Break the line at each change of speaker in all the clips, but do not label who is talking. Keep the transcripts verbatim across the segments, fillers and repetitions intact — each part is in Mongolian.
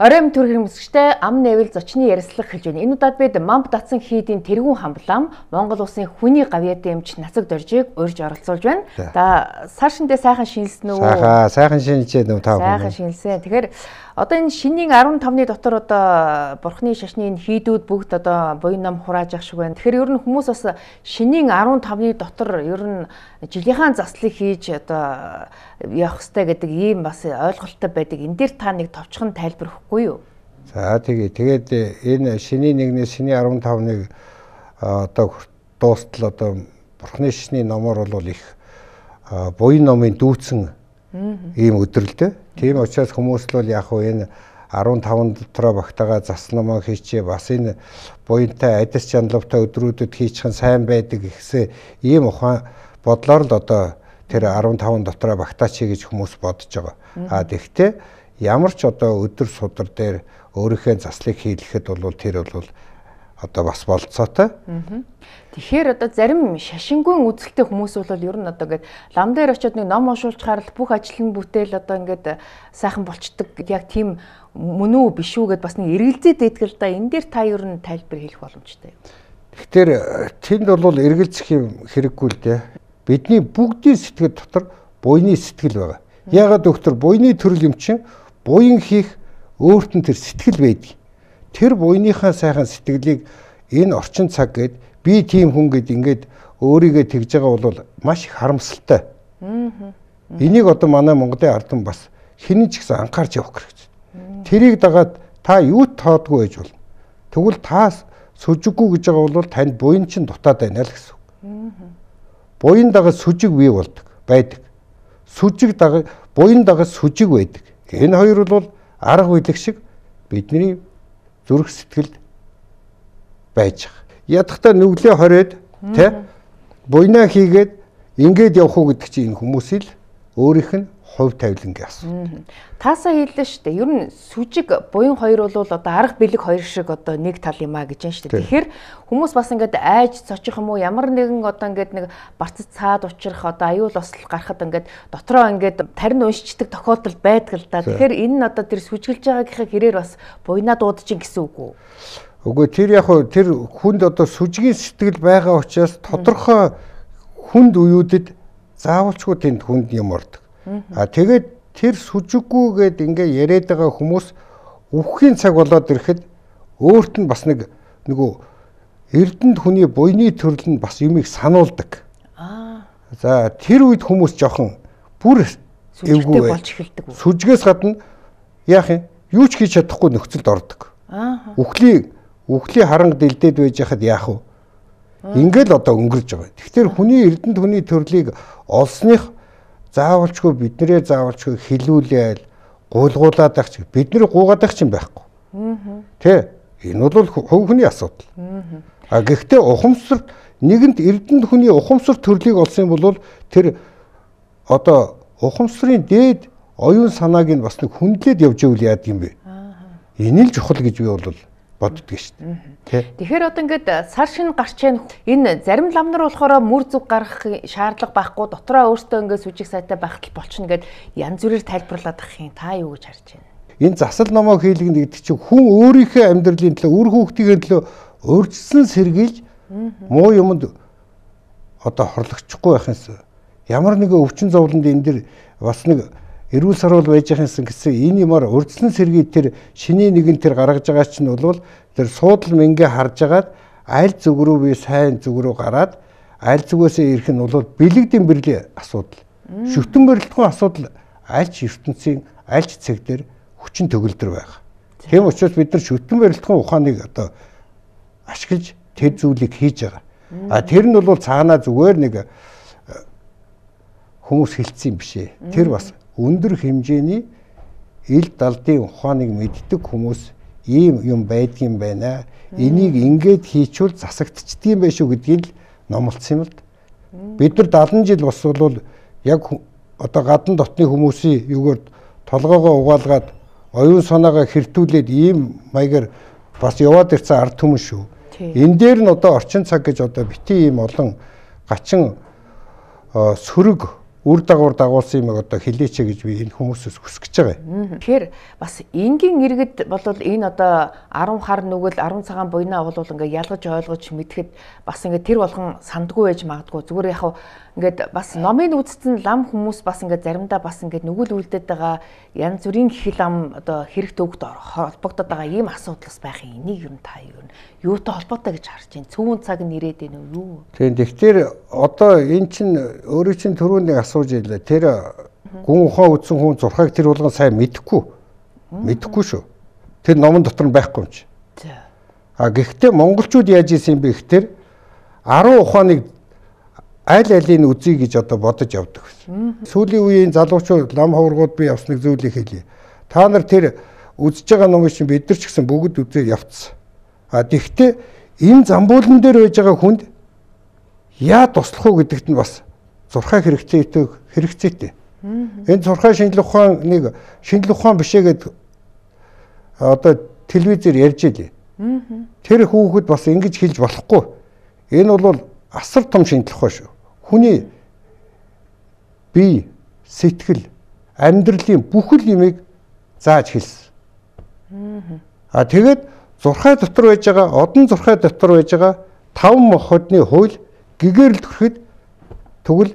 Оройн төр хэрэгмэсгчтэй ам нэвэл зочны ярилцлага хэлж байна. Энэ удаад бид Мамб Датсан хийдийн тэргүүн хамблам Монгол улсын хүний гавьяатай эмч Нацаг Доржийг урьж оролцуулж байна. За сар шиндээ сайхан шинэлсэн үү?
Сайхан, сайхан шинэлжээ нөө тав.
Сайхан шинэлсэн. Тэгэхээр одоо энэ шинийн арван тавны дотор одоо бурхны шашны энэ хийдүүд бүгд одоо буян ном хурааж ах шиг байна. Тэгэхээр ер нь хүмүүс бас шинийн арван тавны дотор ер нь жилийнхаа заслыг хийж одоо явах хэрэгтэй гэдэг ийм бас ойлголттой байдаг. Энэ дээр та нэг товчхон тайлбар өгөхгүй юу?
За тэгээ тэгээд энэ шинийн нэгнээс шинийн арван тавныг одоо дуустал одоо бурхны шашны номоор бол их буян номын дүүцэн ийм өдрөлдөө. Тийм учраас хүмүүс л яг хөө энэ арван таван дотроо багтаага заснамаа хийчээ бас энэ буянтай адис чандлавтай өдрүүдэд хийчихэн сайн байдаг гэсэн ийм ухаан бодлоор л одоо тэр арван таван дотроо багтаач гэж хүмүүс бодож байгаа. А тэгвэл ямар ч одоо өдөр судар дээр өөрийнхөө заслыг хийлгэхэд бол тэр бол одоо бас болцоотой.
Тэгэхээр одоо зарим шашингүй үзэлтэй хүмүүс бол ер нь одоо ингээд лам дээр очиод нэг ном уншуулчаар л бүх ажил нь бүтээл одоо ингээд сайхан болчдөг яг тийм мөн үү биш үү гэд бас нэг эргэлзээд байдаг л да. Энэ дээр та ер нь тайлбар хэлэх боломжтой.
Тэгэхээр тэнд бол эргэлзэх юм хэрэггүй л дээ. Бидний бүгдийн сэтгэл дотор буйны сэтгэл байгаа. Яагаад доктор буйны төрөл юм чинь буян хийх өөрт нь тэр сэтгэл байдаг. Тэр буйныхаа сайхан сэтгэлийг энэ орчин цаг гээд би тийм хүн гэд ингээд өөрийгөө тэгж байгаа бол маш их харамсалтай. Энийг одоо манай Монголын ардан бас хинэн ч гэсэн анхаарч явах хэрэгтэй. Тэрийг дагаад та юу тоодгүй байж болно. Тэгвэл та сүжиггүй гэж байгаа бол танд буян чинь дутаад байна л гэсэн. Буян дагаж сүжиг бий болдог байдаг. Сүжиг дагаж буян дагаж сүжиг байдаг. Энэ хоёр бол арга үйлэг шиг бидний зүрх сэтгэлд байж байгаа. Ядахта нүглээ хороод тэ буйнаа хийгээд ингээд явах уу гэдэг чинь энэ хүмүүсийг өөрийнх нь хувь тавилангийн асуу.
Таасаа хэллээ шүү дээ. Ер нь сүжиг буян хоёр бол одоо арга бэлэг хоёр шиг одоо нэг тал юм а гэж байна шүү дээ. Тэгэхээр хүмүүс бас ингээд айж цочих юм уу ямар нэгэн одоо ингээд нэг барцад цаад учрах одоо аюул ослол гарахад ингээд дотроо ингээд тарин уншичдаг тохиолдол байдаг л да. Тэгэхээр энэ нь одоо тэр сүжиглж байгаагийнхаа хэрээр бас буйнаа дуудаж ин гэсэн үг үү?
Үгүй тэр яг тэр хүнд одоо сүжигийн сэтгэл байгаа учраас тодорхой хүнд үеүүдэд заавалчгүй тэнд хүнд юм ордог. А тэгээд тэр сүжиггүйгээд ингээ яриад байгаа хүмүүс үхэхийн цаг болоод ирэхэд өөрт нь бас нэг нөгөө эрдэнэт хүний буйны төрөл нь бас юмыг сануулдаг. Аа. За тэр үед хүмүүс жоохон бүр
эвгүй болж эхэлдэг.
Сүжгээс гадна яах юм? Юу ч хийж чадахгүй нөхцөлд ордог. Аа. Үхлийн үхлийн харанг дэлдээд байж хахад яах вэ? Ингээл одоо өнгөрж байгаа. Тэгэхээр хүний эрдэнэт хүний төрлийг олсных заавалчгүй биднэрээ заавалчгүй хилүүлээл гуулгуулаад ах чи бидний гуугаад ах чинь байхгүй. Тэ энэ бол хувь хүний асуудал. А гэхдээ ухамсар нэгэнт эрдэнэт хүний ухамсар төрлийг олсон бол тэр одоо ухамсарын дээд оюун санааг нь бас нэг хүндлээд явж ивэл яад юм бэ? Энэ л чухал гэж би бол боддөг шүү дээ.
Тэгэхээр одоо ингээд сар шин гарч байна. Энэ зарим лам нар болохоор мөр зүг гарах шаардлага байхгүй дотроо өөртөө ингээд сүжиг сайтай байх болчихно гэд янз бүрээр тайлбарлаад ах юм. Та юу гэж харж байна?
Энэ засал номоо хийлгэн гэдэг чинь хүн өөрийнхөө амьдралын төлөө үр хүүхдийн төлөө өөрчлөсөн сэргийлж муу юмд одоо хорлогчихгүй байх юмсан. Ямар нэгэн өвчин зовлонд энэ дэр бас нэг эрүүл сарвал байж байхсан гэсэн энэ юмар урдслан сэргий тэр шиний нэгэн тэр гаргаж байгаа чинь бол тэр суудал мэнгэ харж агаад аль зүг рүү би сайн зүг рүү гараад аль зүгөөсөө ирэх нь бол бэлэгдэн бэрлийн асуудал. Шүтэн барилтгүй асуудал аль ч ертөнцийн аль ч цэг дээр хүчин төгөлдөр байгаа. Тийм учраас бид нар шүтэн барилтгүй ухааныг одоо ашиглаж тэр зүйлийг хийж байгаа. А тэр нь бол цаанаа зүгээр нэг хүмүүс хэлсэн юм биш ээ. Тэр бас өндөр хэмжээний ил далдын ухааныг мэддэг хүмүүс ийм юм байдгийн байна. Энийг ингээд хийчүүл засагдчихдээ байх шүү гэдгийг л номлосон юм л. Бид нар дадлан жил бас бол яг одоо гадна дотны хүмүүсийн юугаар толгоогоо угаалгаад оюун санаагаа хэртүүлээд ийм маягаар бас яваад ирсэн ард түмэн шүү. Энэ дээр нь одоо орчин цаг гэж одоо бити ийм олон гачин сөрөг үр дагавар дагуулсан юм одоо хэлээч гэж би энэ хүмүүсээс хүсэж байгаа юм.
Тэгэхээр бас энгийн иргэд болвол энэ одоо арван хар нүгэл арван цагаан буйнаа бол ингээ ялгаж ойлгож мэдэхэд бас ингээ тэр болгон сандгүй байж магадгүй. Зүгээр яг ингээд бас номын үзсэн лам хүмүүс бас ингээ заримдаа бас ингээ нүгэл үлдээд байгаа янз бүрийн хил ам одоо хэрэг төгд холбогдоод байгаа ийм асуудал байх юм. Энийг юу та юу юутай холбоотой гэж харж байна. Цөөн цаг нь ирээд байна уу юу?
Тийм. Тэгэхээр одоо эн чинь өөрөө чинь түрүүний асууж ийлээ. Тэр гүн ухаан үзсэн хүн зурхайг тэр болгон сайн мэдэхгүй. Мэдэхгүй шүү. Тэр номон дотор нь байхгүй юм чи. А гэхдээ монголчууд яаж ийсэн бэ гэхээр арван ухааныг аль алийг үзье гэж одоо бодож явдаг байсан. Сүүлийн үеийн залуучууд лам хавргууд би явсныг зүйлийг хэлье. Та нар тэр үзэж байгаа номыг чинь бид нар ч гэсэн бүгд үзээ явцсан. А тэгвэл энэ замбуулан дээр байж байгаа хүнд яа туслах уу гэдэгт нь бас зурхай хэрэгцээтэй хэрэгцээтэй. Энэ зурхай шинжлэх ухааныг шинжлэх ухаан бишээ гэдэг одоо телевизээр ярьж илээ. Тэр хүүхэд бас ингэж хэлж болохгүй. Энэ бол асар том шинжлэх ухаан шүү. Хүний бие, сэтгэл, амьдралын бүхэл юмыг зааж хэлсэн. А тэгээд зурхай дотор байж байгаа, одон зурхай дотор байж байгаа таван махбодны хууль гэгэрэл төрөхөд тэгвэл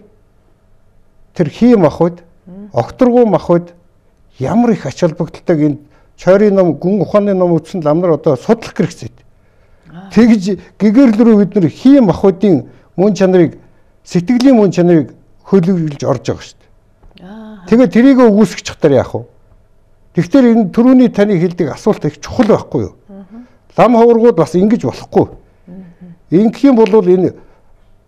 тэр хий махбод, огторгуу махбод ямар их ач холбогдолтойг энэ чойрын ном, гүн ухааны ном үзсэн лам нар одоо судлах хэрэгцээтэй. Тэгж гэгэрэл рүү бид нар хий махбодын мөн чанарыг, сэтгэлийн мөн чанарыг хөлөглөж орж байгаа шүү дээ. Тэгээд тэрийг өгөөсгөх чадвар яах вэ? Тэгэхээр энэ түрүүний таны хэлдэг асуулт их чухал байхгүй юу? Лам хавргууд бас ингэж болохгүй. Ингэх юм бол энэ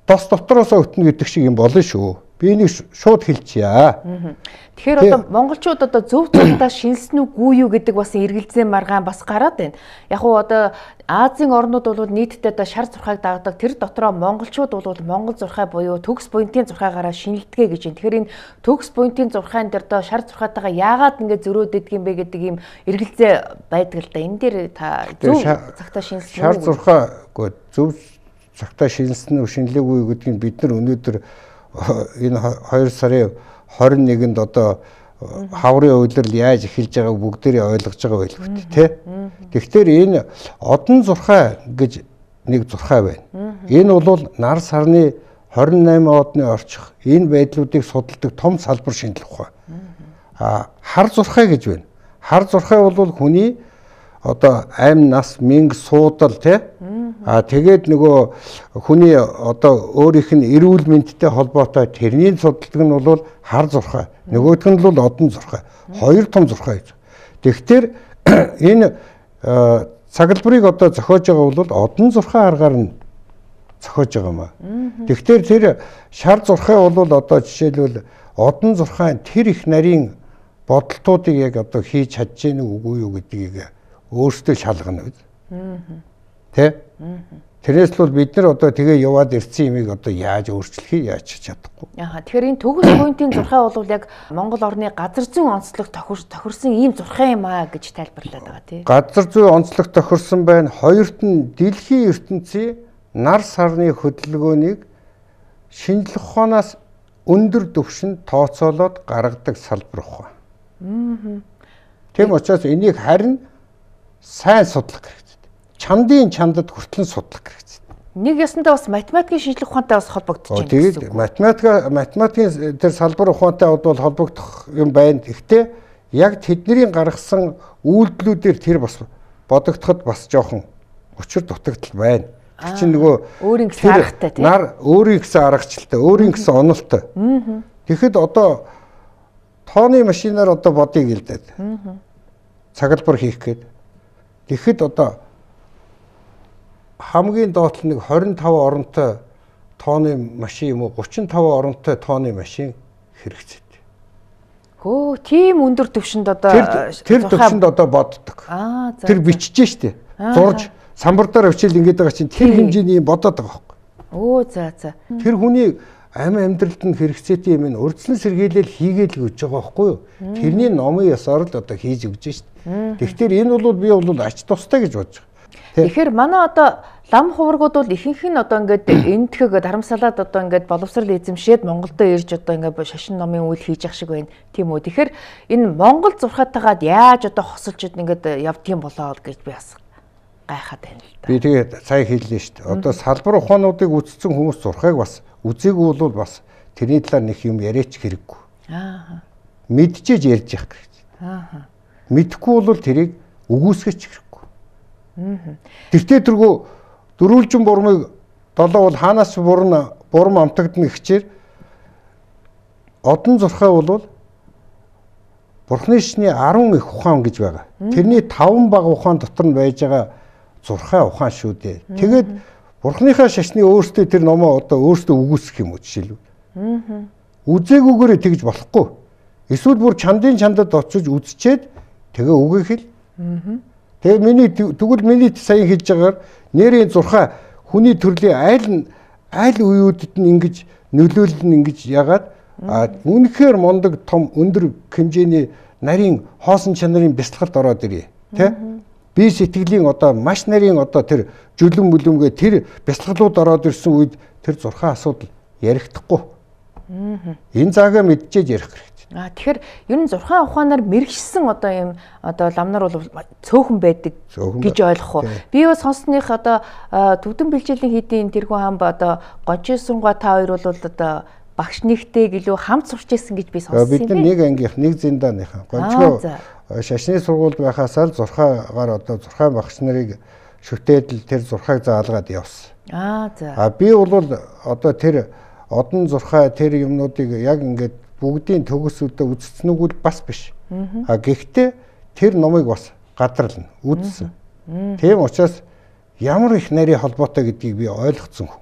тос дотроос өтнө гэдэг шиг юм болно шүү. Би энийг шууд хэлчихье.
Тэгэхээр одоо монголчууд одоо зөв зөвхөн шинэлсэн үгүй юу гэдэг бас эргэлзээ маргаан бас гараад байна. Яг уу одоо Азийн орнууд бол нийтдээ одоо шар зурхайг дагдаг. Тэр дотроо монголчууд бол монгол зурхай буюу төгс буянтын зурхайгаараа шинэлдэгэ гэж байна. Тэгэхээр энэ төгс буянтын зурхайн дээр одоо шар зурхайтайгаа яагаад ингэ зөрөөдөг юм бэ гэдэг ийм эргэлзээ байдаг л да. Энэ дээр та зөв цагтаа шинэлсэн
шар зурхай гоо зөв цагтаа шинэлсэн үү шинэлээгүй гэдгийг бид нар өнөөдөр энэ хоёр сарын хорин нэгэнд одоо хаврын үйлрэл яаж эхэлж байгааг бүгдээрээ ойлгож байгаа байлгүй тий. Тэгэхээр энэ одон зурхай гэж нэг зурхай байна. Энэ бол нар сарны хорин найман одны орчих энэ байдлуудыг судалдаг том салбар шинжлэх ухаан. А хар зурхай гэж байна. Хар зурхай бол хүний одоо амь нас мэнг суудал тий. А тэгээд нөгөө хүний одоо өөрийнх нь эрүүл мэндтэй холбоотой тэрний судалдаг нь бол хар зурхай. Нөгөөх нь бол одон зурхай. Хоёр том зурхай. Тэгэхээр энэ цаглбарыг одоо зохиож байгаа бол одон зурхай аргаар нь зохиож байгаа юм аа. Тэгэхээр тэр шар зурхай бол одоо жишээлбэл одон зурхай тэр их нарийн бодолтуудыг яг одоо хийж чадж гэнэ үгүй юу гэдгийг өөртөө шалгана биз. Тэ? Тэрнээс л бид нар одоо тэгээ яваад ирсэн юмыг одоо яаж өөрчлөхийг яаж чадахгүй.
Аа тэгэхээр энэ төгс буянтын зурхай бол яг Монгол орны газар зүйн онцлог тохирсон ийм зурхай юм аа гэж тайлбарлаад байгаа тий.
Газар зүйн онцлог тохирсон байна. Хоёрт нь дэлхийн ертөнцийн нар сарны хөдөлгөөнийг шинжлэх ухаанаас өндөр түвшинд тооцоолоод гаргадаг салбар ухаан. Тийм учраас энийг харин сайн судлах хэрэгтэй. Чандын чандад хүртэл судлах хэрэгтэй.
Нэг ясандаа бас математикийн шинжлэх ухаантай бас холбогдож байна
гэсэн үг. Математик математикийн тэр салбар ухаантай бол холбогдох юм байна. Гэхдээ яг тэдний гаргасан үйлдэлүүдээр тэр бас бодогдоход бас жоохон учир дутагдал байна. Тэр чинь нөгөө
өөрийн гэсэн аргатай тийм.
Нар өөрийн гэсэн аргачлалтай, өөрийн гэсэн онолтой. Тэгэхэд одоо тооны машинаар одоо бодъё гэлдээд. Цаглбар хийх гээд. Тэгэхэд одоо хамгийн доотлол нэг двадцать пять оронтой тооны машин юм уу тридцать пять оронтой тооны машин хэрэгцээтэй.
Хөө тийм өндөр түвшинд одоо
тэр түвшинд одоо боддог.
Аа за.
Тэр бичиж штэ. Зурж самбардаар өчил ингэж байгаа чинь тэр хэмжээний бодоод байгаа байхгүй.
Оо за за.
Тэр хүний амь амьдралд нь хэрэгцээтэй юм ин урдсан сэргийлэл хийгээл өгч байгаа байхгүй юу? Тэрний номын ёсоор л одоо хийж өгч штэ. Тэгэхээр энэ бол би бол ач тустай гэж бодож байгаа.
Тэгэхээр манай одоо лам хуврагууд бол ихэнх нь одоо ингээд энтхэг дарамсалаад одоо ингээд боловсрал эзэмшээд Монголдо ирж одоо ингээд шашин номын үйл хийж ах шиг байна. Тийм үү. Тэгэхээр энэ Монгол зурхаатайгаад яаж одоо хосолж ингээд явдгийм болоо гэж би бас гайхаад байна л да.
Би тэгээд сая хэллээ шүү дээ. Одоо салбар ухаануудыг үзсэн хүмүүс зурхайг бас үзээгүй бол бас тэрний талаар нэг юм яриач хэрэггүй.
Аа.
Мэдчихэж ярьж явах хэрэгтэй.
Аа.
Мэдхгүй бол тэрийг үгүйсгэж хэрэггүй. Аа. Тэртээ тэргүй дөрвөлжин бурмыг долоо бол хаанаас бурна бурам амтагдана гэхчээр одон зурхай бол Бурхны шний арван их ухаан гэж байгаа. Тэрний таван бага ухаан дотор нь байж байгаа зурхай ухаан шүү дээ. Тэгээд Бурхныхаа шашны өөртөө тэр номоо одоо өөртөө үгүйсгэх юм уу жишээлбэл. Аа. Үзээгүйгээр тэгж болохгүй. Эсвэл бүр чандын чандад очиж үзчихэд тэгээ үгийг хэл. Аа. Тэгээ миний тэгвэл миний сая хэлж байгаагаар нэрийн зурхай хүний төрлийн айл айл үеүүдэд нь ингэж нөлөөлөл нь ингэж ягаад үнэхээр мондог том өндөр хэмжээний нарийн хоосон чанарын бяцлагалд ороод ирээ. Тэ? Би сэтгэлийн одоо маш нарийн одоо тэр жүлэн мүлэмгээ тэр бяцлаглууд ороод ирсэн үед тэр зурхай асуудал ярихдаггүй. Энэ заагаа мэдчихэж ярих хэрэгтэй.
А тэгэхээр ер нь зурхай ухаанаар мэрэгшсэн одоо юм одоо ламнар бол цөөхөн байдаг гэж ойлгох уу. Би бас сонссных одоо төвдөн бэлчээлийн хийдийн тэрхүү хаан ба одоо гончин сургаа та хоёр бол одоо багш нэгтэй гэлөө хамт сурч ирсэн гэж би сонссон юм.
Бид нар нэг ангийнх нэг зиндааныхан гончгоо шашны сургуульд байхасаар зурхайгаар одоо зурхай багш нарыг шүтээдэл тэр зурхайг заалгаад явсан.
Аа за.
А би бол одоо тэр одон зурхай тэр юмнуудыг яг ингээд бүгдийн төгсөдөө үзсэн үг бас биш. А гэхдээ тэр номыг бас гадарлана, үзсэн. Тийм учраас ямар их нарийн холбоотой гэдгийг би ойлгоцсон хүн.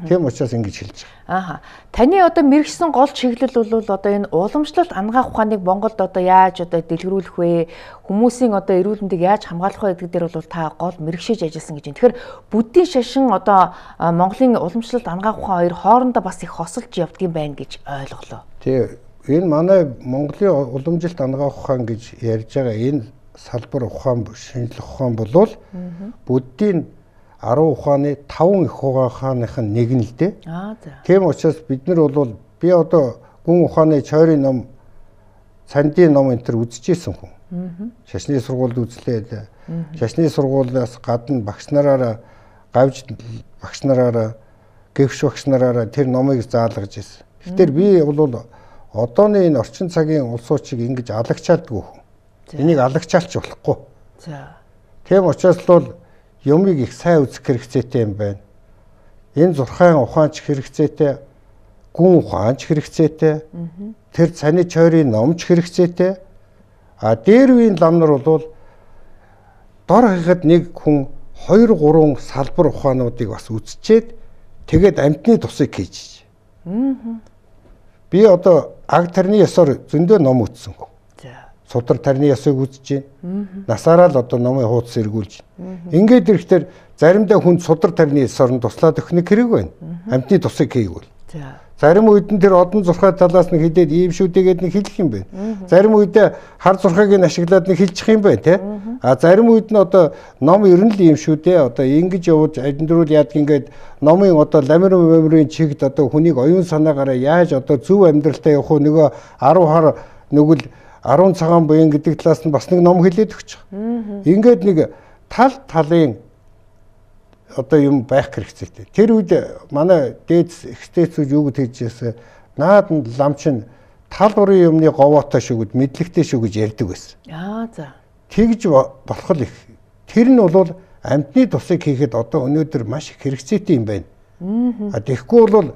Тийм учраас ингэж хэлж байгаа.
Ааха. Таны одоо мэрэгсэн гол чиглэл бол одоо энэ уламжлалт ангаах ухааныг Монголд одоо яаж одоо дэлгэрүүлэх вэ? Хүмүүсийн одоо эрүүл мэндийг яаж хамгаалах вэ гэдэг дээр бол та гол мэрэгшиж ажилласан гэж байна. Тэгэхээр бүдийн шашин одоо Монголын уламжлалт ангаах ухаан хоёр хоорондоо бас их хосолж явдгийм байна гэж ойлголоо.
Тийм. Энэ манай Монголын уламжлалт ангаах ухаан гэж ярьж байгаа энэ салбар ухаан шинжлэх ухаан болвол бүдийн арван ухааны таван их ухааных нь нэг нь л дээ.
Аа за.
Тийм учраас бид нар бол би одоо гүн ухааны чойрын ном, цандын ном энэ төр үзчихсэн хүн. Аа. Шашны сургуульд үзлээ. Шашны сургуулиас гадна багш нараараа гавж багш нараараа гэвш багш нараараа тэр номыг заалгаж ирсэн. Тэгэхээр би бол одооны энэ орчин цагийн улс уучийг ингэж алагчаалдгүй хүн. Энийг алагчаалч болохгүй.
За.
Тийм учраас бол юмыг их сайн үзэх хэрэгцээтэй юм байна. Энэ зурхайн ухаанч хэрэгцээтэй, гүн ухаанч хэрэгцээтэй, тэр цаны чойрын номч хэрэгцээтэй. А дээр үеийн лам нар бол дор хахад нэг хүн хоёр гурван салбар ухаануудыг бас үзчихэд тэгээд амтны тусыг хийж. Би одоо аг тарны ёсоор зөндөө ном үзсэн хүн. Судар тарны ёсыг үзэж байна. Насаараа л одоо номын хуудас эргүүлж байна. Ингээд ирэхдээ заримдаа хүн судар тарны ёсоор туслаад өгөх нэг хэрэг байна. Амтны тусыг хийгүүл. Зарим үед нь тэр одон зурхай талаас нь хидээд ийм шүү дээгээд нэг хэлэх юм байна. Зарим үед хар зурхайг нь ашиглаад нэг хэлчих юм байна те. А зарим үед нь одоо ном ер нь л ийм шүү дээ. Одоо ингэж явж адиндрүүл яадаг ингээд номын одоо ламир меморийн чигт одоо хүнийг оюун санаагаараа яаж одоо зөв амьдралтай явах уу нөгөө арав хар нүгэл арван цагаан буян гэдэг талаас нь бас нэг ном хэлээд өгч байгаа. Ингээд нэг тал талын одоо юм байх хэрэгцээтэй. Тэр үед манай дээд экстэцүүд юу гэж хэлжсэн наад нь ламчин тал бүрийн юмны говоотой шүү гэд мэдлэгтэй шүү гэж ярьдаг байсан.
Аа за.
Тэгж болох л их. Тэр нь бол амтны тусыг хийхэд одоо өнөөдөр маш их хэрэгцээтэй юм байна. А тэгэхгүй бол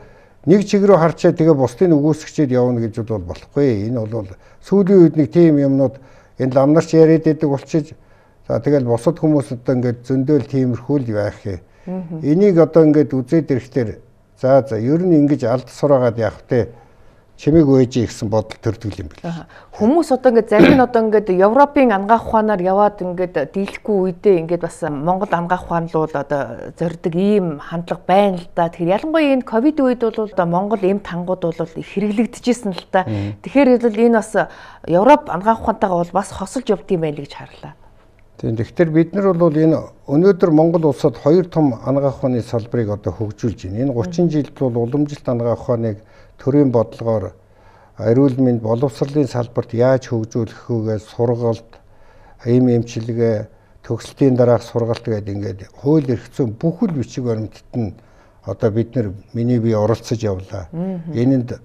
нэг чиг рүү харчаа тэгээ бусдыг үгүйсгчээд явна гэж бол болохгүй. Энэ бол сүүлийн үед нэг тийм юмнууд энэ ламнарч яриад байдаг болчих. За тэгэл бусад хүмүүс одоо ингээд зөндөөл тиймэрхүү л байх юм. Энийг одоо ингээд үзээд ирэхээр за за ер нь ингэж алд сураагаад явах те чимээг өөжээ гэсэн бодол төрдөг юм байна.
Хүмүүс одоо ингээд зарим нь одоо ингээд Европын ангаах ухаанаар яваад ингээд дийлэхгүй үедээ ингээд бас Монгол ангаах ухаан руу одоо зорддог ийм хандлага байна л да. Тэгэхээр ялангуяа энэ ковид үед бол одоо Монгол эм тангууд бол их хэрэглэгдэжсэн л та. Тэгэхээр энэ бас Европ ангаах ухаантайгаа бол бас хосолж явдгийм байл гэж харлаа.
Тийм. Тэгэхээр бид нар бол энэ өнөөдөр Монгол улсад хоёр том анагаах ухааны салбарыг одоо хөгжүүлж байна. Энэ гучин жилд бол уламжилт анагаах ухааныг төрийн бодлогоор эрүүл мэнд боловсролын салбарт яаж хөгжүүлэх вүгээс сургалт, эм эмчилгээ, төгсөлтийн дараах сургалт гэдэг ингээд хууль эрх зүйн бүхэл бичиг баримтад нь одоо бид нар миний бие оролцож явлаа. Энэнд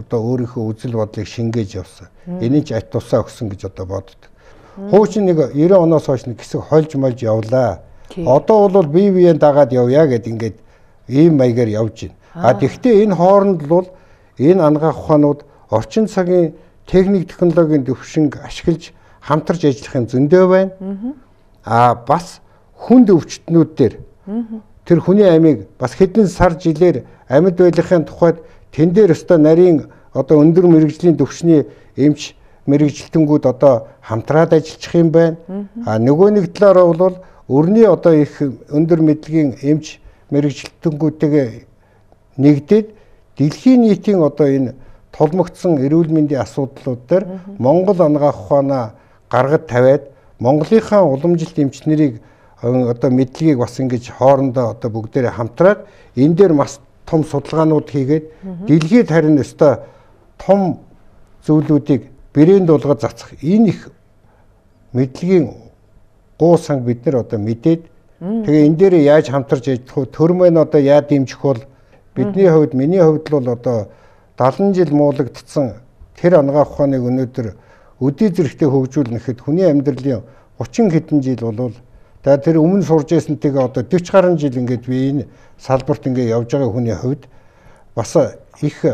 одоо өөрийнхөө үзэл бодлыг шингээж явсан. Энийг ч ать тусаа өгсөн гэж одоо боддог. Хуучин нэг девяносто оноос хойш нэг хэсэг хольж молж явлаа. Одоо бол бие биеийн дагаад явъя гэд ингээд ийм маягаар явж байна. А тэгвэл энэ хооронд бол энэ анагаах ухаанууд орчин цагийн техник технологийн дэвшинг ашиглаж хамтарч ажиллах юм зөндөө байна. А бас хүнд өвчтнүүд дээр тэр хүний амийг бас хэдэн сар жилээр амьд байлгахын тухайд тэн дээр өстой нарийн одоо өндөр мэрэгжлийн төвшний эмч мэрэгжилтэнгүүд одоо хамтраад ажиллах юм байна. А нөгөө нэг талаараа бол өрний одоо их өндөр мэдлэгийн эмч мэрэгжилтэнгүүдтэйгээ нэгдээд дэлхийн нийтийн одоо энэ толмогдсон эрүүл мэндийн асуудлууд дээр Монгол анагаах ухаанаа гаргад тавиад Монголынхаа уламжилт эмч нарыг одоо мэдлэгийг бас ингэж хоорондоо одоо бүгдээрээ хамтраад энэ дээр маш том судалгаанууд хийгээд дэлхийд харин өстой том зүйлүүдийг брэнд болгож цацах энэ их мэдлэгийн гуу санг бид нар одоо мэдээд тэгээ энэ дээр яаж хамтарч ажиллах вэ? Төр маань одоо яа дэмжих бол бидний хувьд миний хувьд бол одоо даалан жил муулагдсан тэр анагаах ухааныг өнөөдөр өдий зэрэгтэй хөгжүүлнэхэд хүний амьдралын гучин хэдэн жил болвол за тэр өмнө сурж байсантэйгээ одоо дөрвөн гаруй жил ингээд би энэ салбарт ингээд явж байгаа хүний хувьд бас их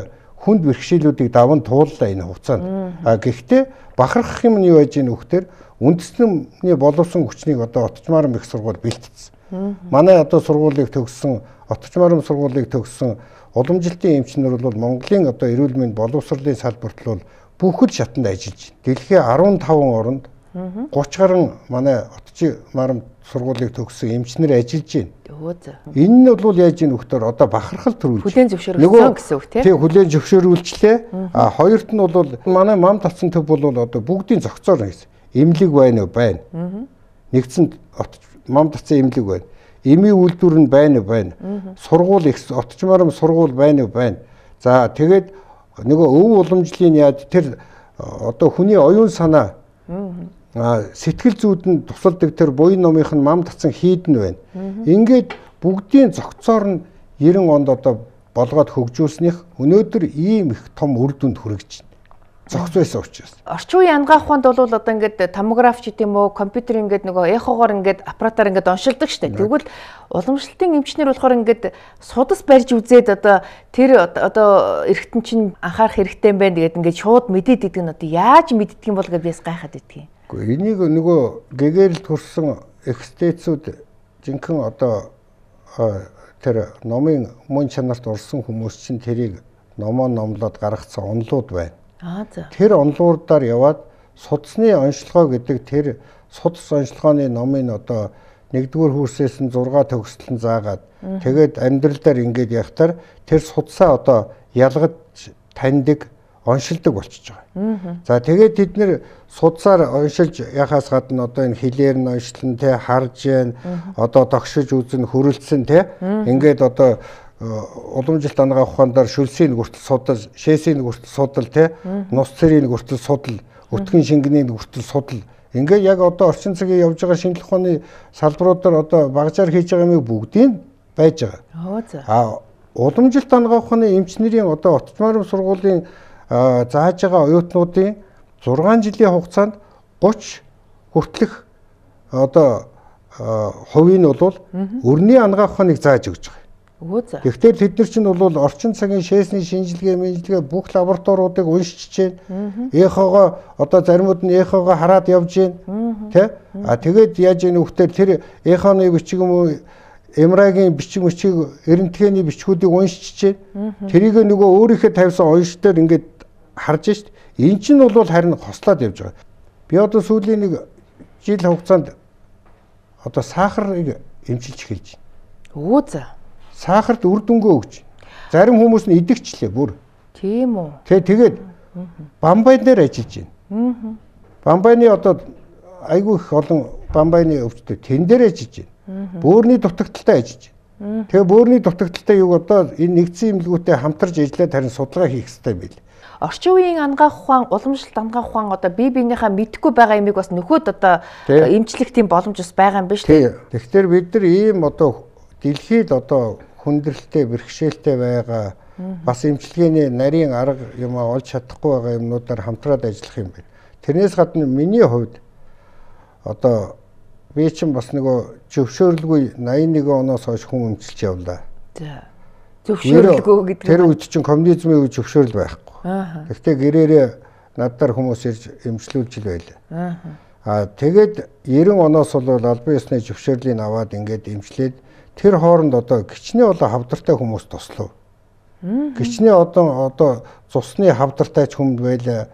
хүнд бэрхшээлүүдийг даван тууллаа энэ хугацаанд. А гэхдээ бахархах юм нь юу байж гэнэ вөхтөр үндэсний боловсон хүчнийг одоо Отчмаарам их сургууль бэлтгэсэн. Манай одоо сургуулийг төгссөн Отчмаарам сургуулийг төгссөн уламжилтын эмчнэр бол Монголын одоо эрүүл мэнд боловсролын салбарт бол бүхэл шатанд ажиллаж байна. Дэлхийн арван таван оронд гуравч гаруй манай Отчмаарам сургуулийг төгссөн эмчнэр ажиллаж байна. Энэ нь бол яаж ийм вөхтөр одоо бахархал төрүүлж
хүлээн зөвшөөрүүлсэн гэсэн үг тийм.
Тий хүлээн зөвшөөрүүлчлээ. А хоёрт нь бол манай мам татсан төв бол одоо бүгдийн зохицоор гэсэн. Эмнэлэг байна уу? Байна. Нэгдсэн мам татсан эмнэлэг байна. Эмийн үйлдвэр нь байна уу? Байна. Сургууль их Отчмаарам сургууль байна уу? Байна. За тэгээд нөгөө өв уламжлалын яад тэр одоо хүний оюун санаа а сэтгэл зүйд нь тусалдаг тэр буян номынх нь мам татсан хийдэн байна. Ингээд бүгдийн зохицоор нь девяносто онд одоо болгоод хөгжүүлснийх өнөөдөр ийм их том үр дүнд хүрэж байна. Зохиц байсан учраас.
Орчин үеийн анагаах ухаанд бол одоо ингээд томограф ч гэдэм үү компьютер ингээд нөгөө эхогоор ингээд аппаратаар ингээд оншилдог штэ. Тэгвэл уламжлалтын эмчнэр болохоор ингээд судас барьж үзээд одоо тэр одоо эргэтэн чинь анхаарах хэрэгтэй юм байна гэдэг ингээд шууд мэдээд идэг нь одоо яаж мэддэг юм бол гэж бис гайхаад иддэг юм.
Гэхдээ энийг нөгөө гэгэрэлд хүрсэн экстэцүүд жинхэнэ одоо тэр номын мөн чанарт орсон хүмүүс чинь тэрийг номоо номлоод гаргацсан онлууд байна.
Аа за.
Тэр онлуудаар яваад судасны онцлогоо гэдэг тэр судас онцлогооны номын одоо нэгдүгээр курсээс нь зураг төгсөлтөн заагаад тэгээд амьдралдаар ингээд явахтаар тэр судасаа одоо ялгаж таньдаг оншилдог болчихж байгаа. За тэгээд бид нэр судсаар оншилж яхаас гадна одоо энэ хилээр нь оншлон те харж जैन одоо тогшиж үзэн хөрөлдсөн те ингээд одоо уламжилт анагаах ухаанаар шүлсийн хүртэл судал, шээсийн хүртэл судал те нус цэрийн хүртэл судал, өтгөн шингэний хүртэл судал. Ингээд яг одоо орчин цагийн явж байгаа шинжлэх ухааны салбаруудаар одоо багажаар хийж байгаа юм бүгдийг байж байгаа. А уламжилт анагаах ухааны эмчнэрийн одоо Отчмаарам сургуулийн зааж байгаа оюутнуудын зургаан жилийн хугацаанд гуравч хүртэлх одоо хувийг нь бол өрний анагаах ухааныг зааж өгч байгаа. Тэгэхээр тэд нар чинь бол орчин цагийн шээсний шинжилгээ, мэдлэгээ бүх лабораториудыг уншиж байна. Эхогоо одоо заримуд нь эхогоо хараад явж байна. Тэ? А тэгээд яаж ийм нөхдөр тэр эхоны бичиг юм уу эм эр ай-гийн бичиг мөчийг эрентгээний бичгүүдийг уншиж байна. Тэрийг нөгөө өөрийнхөө тавьсан уншдаар ингээд харж шít. Энэ чинь бол харин хослоод явж байгаа. Би одоо сүүлийн нэг жил хугацаанд одоо сахарыг эмчилж эхэлж байна.
Өө за.
Сахарт үр дүнгөө өгч. Зарим хүмүүс нь идэгчлээ бүр.
Тийм үү.
Тэ тэгээд бамбай дээр ажиллаж байна. Бамбайны одоо айгүй их олон бамбайны өвчтөд тэн дээр ажиж байна. Бөөрийн дутагдaltaй ажиж байна. Тэгээ бөөрийн дутагдaltaй юу одоо энэ нэгдсэн эмнэлгүүтэй хамтарч ажиллаад харин судалгаа хийх хэрэгтэй байл.
Орчин үеийн ангаах ухаан, уламжлалт ангаах ухаан одоо бие биенийхээ мэдхгүй байгаа юмыг бас нөхөд одоо эмчлэх тийм боломж бас байгаа юм биш үү?
Тэгэхээр бид нар ийм одоо дэлхийд одоо хүндрэлтэй, бэрхшээлтэй байгаа бас эмчилгээний нарийн арга юм олж чадахгүй байгаа юмнуудаар хамтраад ажиллах юм байна. Тэрнээс гадна миний хувьд одоо би чинь бас нөгөө зөвшөөрлгүй найман нэгэн оноос хойш хүн эмчилж явлаа.
За. Зөвшөөрлгүй гэдэг.
Тэр үед чинь коммунизмын үед зөвшөөрөл байхгүй. Гэхдээ гэрээрээ надаар хүмүүс ирж эмчлүүлж л байлаа. Аа тэгээд девяносто оноос бол албан ёсны зөвшөөрлийг аваад ингээд эмчлээд тэр хооронд одоо гिचний одоо хавдартай хүмүүс туслав. Гिचний одоо одоо цусны хавдартай ч хүнд байлаа.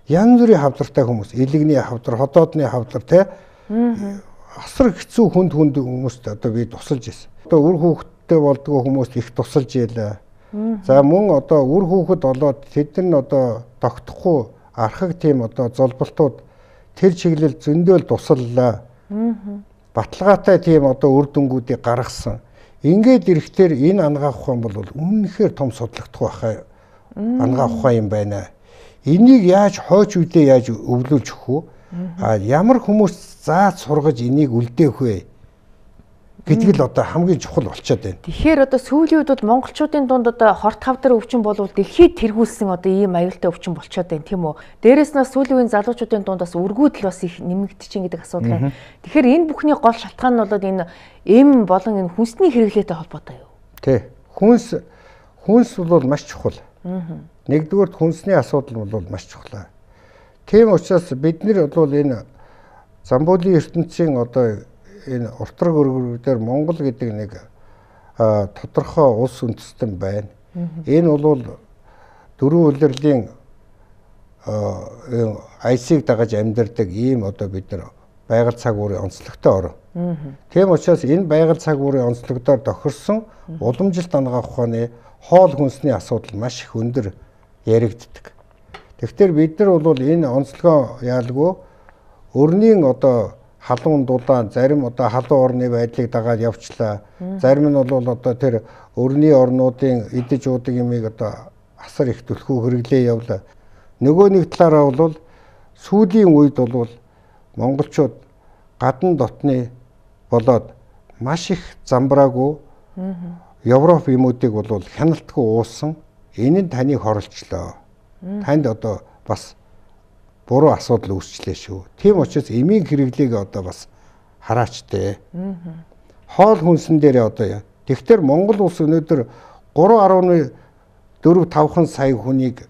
Янз бүрийн хавдартай хүмүүс, элэгний хавдар, ходоодны хавдар те асар хэцүү хүнд хүнд хүмүүст одоо би тусалж ирсэн. Одоо үр хүүхэдтэй болдгоо хүмүүст их тусалж ийлээ. За мөн одоо үр хүүхэд болоод тэд нар одоо тогтохгүй архаг тийм одоо золболтууд тэр чиглэл зөндөл тусаллаа. Баталгаатай тийм одоо үр дүнгуудыг гаргасан. Ингээд ирэхлээр энэ ангаах ухаан бол үнэнхээр том судлагдах байхаа ангаах ухаан юм байна. Энийг яаж хойч үедээ яаж өвлүүлж өгөх вэ? А ямар хүмүүс зааж сургаж энийг үлдээх вэ? Гэдэг л одоо хамгийн чухал болчиход байна.
Тэгэхээр одоо сүүлийн үед бол монголчуудын дунд одоо хорт хавдар өвчин болвол дэлхийд тэргүүлсэн одоо ийм аюултай өвчин болчиход байна тийм үү? Дээрээс нь сүүлийн үеийн залуучуудын дунд бас өргүүдл бас их нэмэгдчихээн гэдэг асуудал байна. Тэгэхээр энэ бүхний гол шалтгаан нь бол энэ эм болон энэ хүнсний хэрэглээтэй холбоотой юу?
Тий. Хүнс хүнс бол маш чухал. Нэгдүгээр хүнсний асуудал бол маш чухал. Тийм учраас бид нар бол энэ Замбуулийн ертөнцийн одоо энэ уртраг өргөрүүдээр Монгол гэдэг нэг тодорхой улс үндэстэн байна. Энэ бол дөрвөн улирлын айсыг дагаж амьдардаг ийм одоо бид нар байгаль цаг уурын онцлогтой орн. Тийм учраас энэ байгаль цаг уурын онцлогдоор тохирсон уламжилт ангаах ухааны хоол хүнсний асуудал маш их өндөр яригддаг. Тэгэхээр бид нар бол энэ онцлогоо яалгүй өрнийн одоо халуун дулаан зарим одоо халуун орны байдлыг дагаад явчлаа. Зарим нь бол одоо тэр өрний орнуудын идэж уудаг юмыг одоо асар их түлхүү хэрэглээ явлаа. Нөгөө нэг талаараа бол сүүлийн үед бол монголчууд гадна дотны болоод маш их замбраагүй Европ юмуудыг бол хяналтгүй уусан. Энэ нь таныг хорлцлоо. Танд одоо бас буруу асуудал үүсчлээ шүү. Тийм учраас эмийн хэрэглээг одоо бас хараачтай. Хоол хүнсэн дээр одоо тэгэхээр Монгол улс өнөөдөр гурван гаруй дөрвөн тавхан сая хүнийг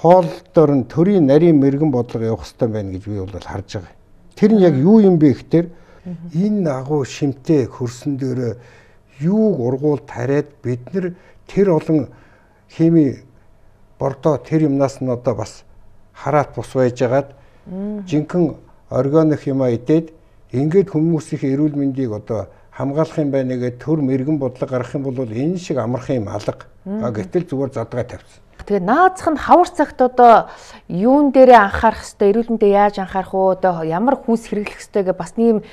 хоолдоор нь төрийн нарийн мэрэгэн бодлого явах хэрэгтэй байна гэж би бол харж байгаа. Тэр нь яг юу юм бэ гэхээр энэ агуу шимтэй хөрсөн дээр юуг ургуул тариад бид нар тэр олон хими бордоо тэр юмнаас нь одоо бас хараат бус байжгаад жинхэнэ органик юм идээд ингээд хүмүүсийн эрүүл мэндийг одоо хамгаалах юм байна гэдэг төр мэрэгэн бодлого гаргах юм бол энэ шиг амархан юм алга. Гэтэл зүгээр задгаа тавьсан.
Тэгээ наазах нь хавар цагт одоо юун дээрээ анхаарах хэвээр эрүүл мэндэд яаж анхаарах уу одоо ямар хүнс хэрэглэх хэвээр гэх бас нэм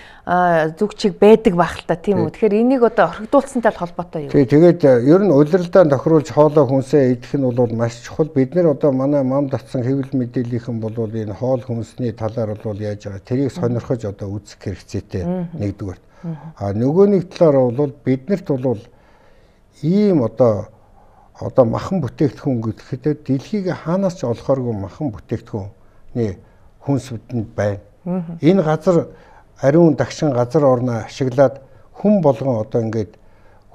зүг чиг байдаг байх л та тийм үү. Тэгэхээр энийг одоо орхигдуулсантай холбоотой юу? Тий,
тэгээд ер нь улиралдаа тохируулж хоолой хүнсээ идэх нь бол маш чухал. Бид нэр одоо манай мам татсан хэвлэл мэдээллийнхэн бол энэ хоол хүнсний талаар бол яаж байгаа тэрийг сонирхож одоо үзэх хэрэгцээтэй нэгдүгээр. А нөгөө нэг талаар бол биднэрт бол ийм одоо одоо махан бүтээгдэхүүн гэхэд дэлхийг хаанаас ч олохооргүй махан бүтээгдэхүүний хүнс бидэнд байна. Энэ газар ариун дагшин газар орноо ашиглаад хүн болгон одоо ингээд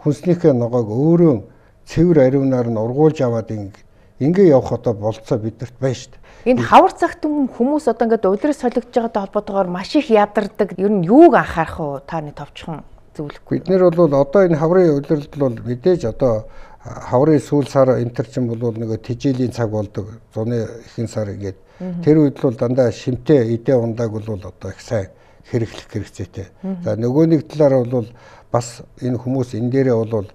хүнснийхээ ногоог өөрөө цэвэр ариунаар нь ургуулж аваад ингээ явах одоо болцоо бидэрт байна шүү дээ.
Энэ хавар цагт хүмүүс одоо ингээд улирал солигдож байгаатай холбоотойгоор маш их ядардаг. Ер нь юуг анхаарах уу та нэг товчхон зөвлөхгүй.
Бид нэр бол одоо энэ хаврын улиралд бол мэдээж одоо хаврын сүүл сар энтерчин бол нөгөө тижээлийн цаг болдог. Зуны ихэнх сар ингээд тэр үед бол дандаа шимтэй эдээ ундааг бол одоо их сайн хэрэглэх хэрэгцээтэй. За нөгөө нэг талаар бол бас энэ хүмүүс энэ дээрээ бол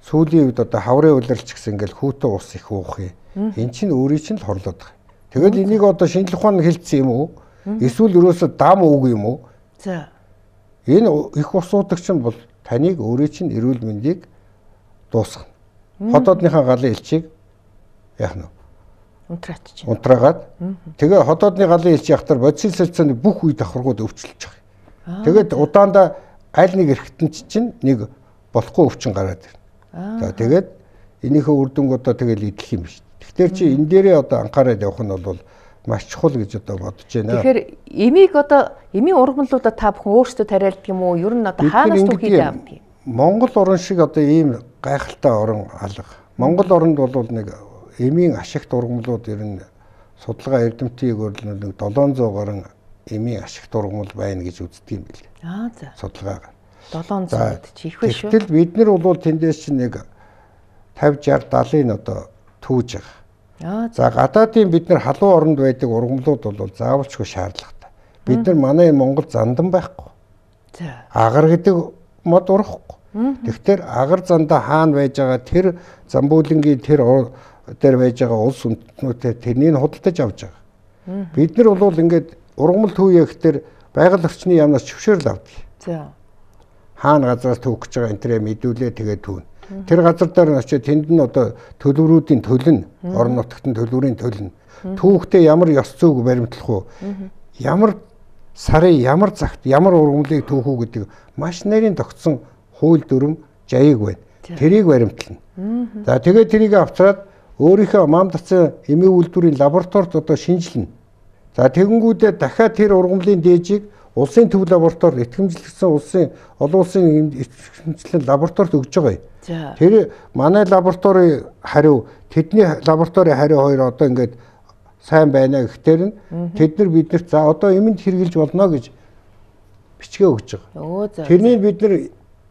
сүүлийн үед одоо хаврын улиралч гэсэн ингээд хүүтэн ус их уух юм. Эн чинь өөрийн чинь л хорлоод байгаа. Тэгэл энийг одоо шинжлэх ухаанд хэлсэн юм уу? Эсвэл ерөөсө дам үг юм уу?
За.
Энэ их ус уудаг чинь бол таныг өөрөө чинь эрүүл мэндийг дуусгана. Хотоодныхаа галын элчийг яах нь?
Унтраач.
Унтраагаад тэгээ хотоодны галын элч яхтар бодис солилцооны бүх үе давхаргууд өвчлөж байгаа. Тэгээд удаандаа аль нэг эрхтэн чинь нэг болохгүй өвчин гараад ирнэ. За тэгээд энийхээ үр дүнг одоо тэгэл идэх юм биш. Тэгэхээр чи энэ дээрээ одоо анхаарал явах нь бол маш чухал гэж одоо бодож байна.
Тэгэхээр эмийг одоо эмийн ургамлуудаа та бүхэн өөрсдөө тариалдаг юм уу? Ер нь одоо хаанаас түүхийдээ авдаг юм?
Монгол орн шиг одоо ийм гайхалтай орн алга. Монгол оронд бол нэг эмийн ашигт ургамлууд ер нь судалгаа эрдэмтдийг бол нэг долоон зуун гаруй эмийн ашигт ургамл байна гэж үздэг юм билээ.
Аа за.
Судалгаагаар.
долоон зуунд чи их биш шүү.
Тэгтэл бид нар бол тэндээс чинь нэг пенсав, шард, даалын одоо түүж байгаа. За гадаадын бид нар халуун оронд байдаг ургамлууд бол заавалчгүй шаардлагатай. Бид нар манай энэ Монгол зандан байхгүй.
За.
Агар гэдэг мод урахгүй. Тэгэхээр агар зандаа хаана байж байгаа тэр Замбуулангийн тэр дээр байж байгаа улс үндэстнүүтэй тэрнийг худалдаж авч байгаа. Бид нар бол ингээд ургамал түүе гэхээр байгаль орчны яамнаас зөвшөөрөл авдаг.
За.
Хаана газраас түүх гэж байгаа энэ тэрэ мэдүүлээ тэгээд түүн. Тэр газар дээр очиж тэнд нь одоо төлөврүүдийн төлн, орон нутгтын төлөврийн төлн. Түүхтэй ямар ёс зүйг баримтлах уу? Ямар сарын ямар цагт ямар ургамлыг түүх үү гэдэг маш нарийн тогтсон хууль дүрм жаяг байна. Тэрийг баримтлана. За тэгээд тэрийг авчраад өөрийнхөө мам дацсан эмийн үйлдвэрийн лабораторид одоо шинжилнэ. За тэгэнгүүтээ дахиад тэр ургамлын дээжийг улсын төв лабораторид итгэмжлэгдсэн улсын олон улсын итгэмжлэн лабораторид өгж байгаа юм. Тэр манай лабораторийн хариу тэдний лабораторийн хариу хоёр одоо ингээд сайн байна гэхээр нь тэд нар биднэрт за одоо эмэнд хэрэгжилж болно гэж бичгээ өгч байгаа. Тэрний бид нар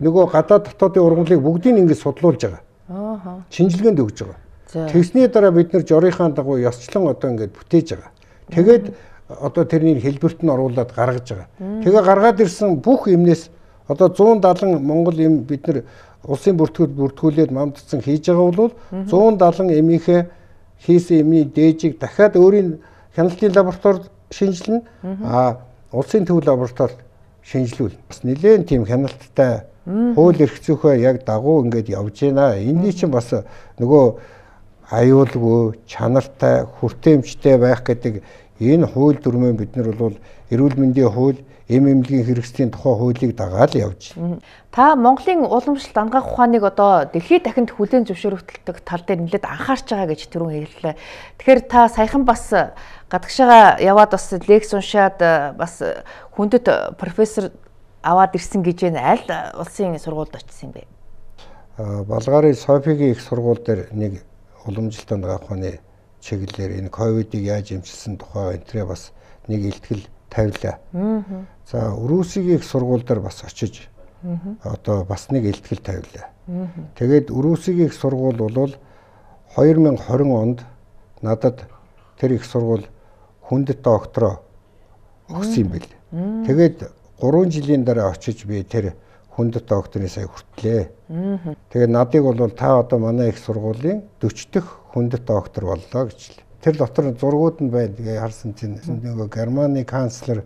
нөгөө гадаад дотоодын ургамлыг бүгдийг ингээд судлуулж байгаа. Аа. Шинжилгээнд өгж байгаа. Тэгсний дараа бид нар жорийнхаа дагуу ёсчлон одоо ингээд бүтээж байгаа. Тэгээд одоо тэрний хэлбэрт нь оруулаад гаргаж байгаа. Тэгээ гаргаад ирсэн бүх эмнээс одоо зуун даалан Монгол эм бид нар улсын бүртгүүл бүртгүүлээд мамдцсан хийж байгаа бол зуун даалан эмийнхээ хийсэн эмийн дээжийг дахиад өөрийн хяналтын лабораторид шинжилнэ. А улсын төв лабораторид шинжилүүлнэ. Бас нэлээд тийм хяналттай хууль эрх зүйхөө яг дагуу ингээд явж байна. Энэний чинь бас нөгөө аюулгүй, чанартай, хүртээмжтэй байх гэдэг энэ хууль дүрмээ бид нар бол эрүүл мэндийн хууль, эм эмнэлгийн хэрэгслийн тухай хуулийг дагаад явж байна.
Та Монголын уламжлалт ангаах ухааныг одоо дэлхийд дахинд хүлээн зөвшөөрөгддөг тал дээр нэлээд анхаарч байгаа гэж түрүүн хэллээ. Тэгэхээр та саяхан бас гадагшаага яваад бас лекц уншаад бас хүндэт профессор аваад ирсэн гэж байна. Аль улсын сургуульд очсон юм бэ?
Балгаарын Софигийн их сургууль дээр нэг уламжлалт ангаах ухааны чиглэлээр энэ ковидыг яаж эмчилсэн тухай энтрээ бас нэг илтгэл тавилаа. За Өрөөсгийн их сургууль дээр бас очиж одоо бас нэг илтгэл тавилаа. Тэгээд Өрөөсгийн их сургууль бол хоёр мянга хорин онд надад тэр их сургууль хүндэт доктороо өгсөн юм бэл. Тэгээд гурван жилийн дараа очиж би тэр хүндэт докторын сая хүртлээ. Тэгээд надыг бол та одоо манай их сургуулийн дөрвөн дэх хүндэт доктор боллоо гэж л. Тэр дотор зургууд нь байна. Тэгээ харсан чинь нөгөө Германы канцлер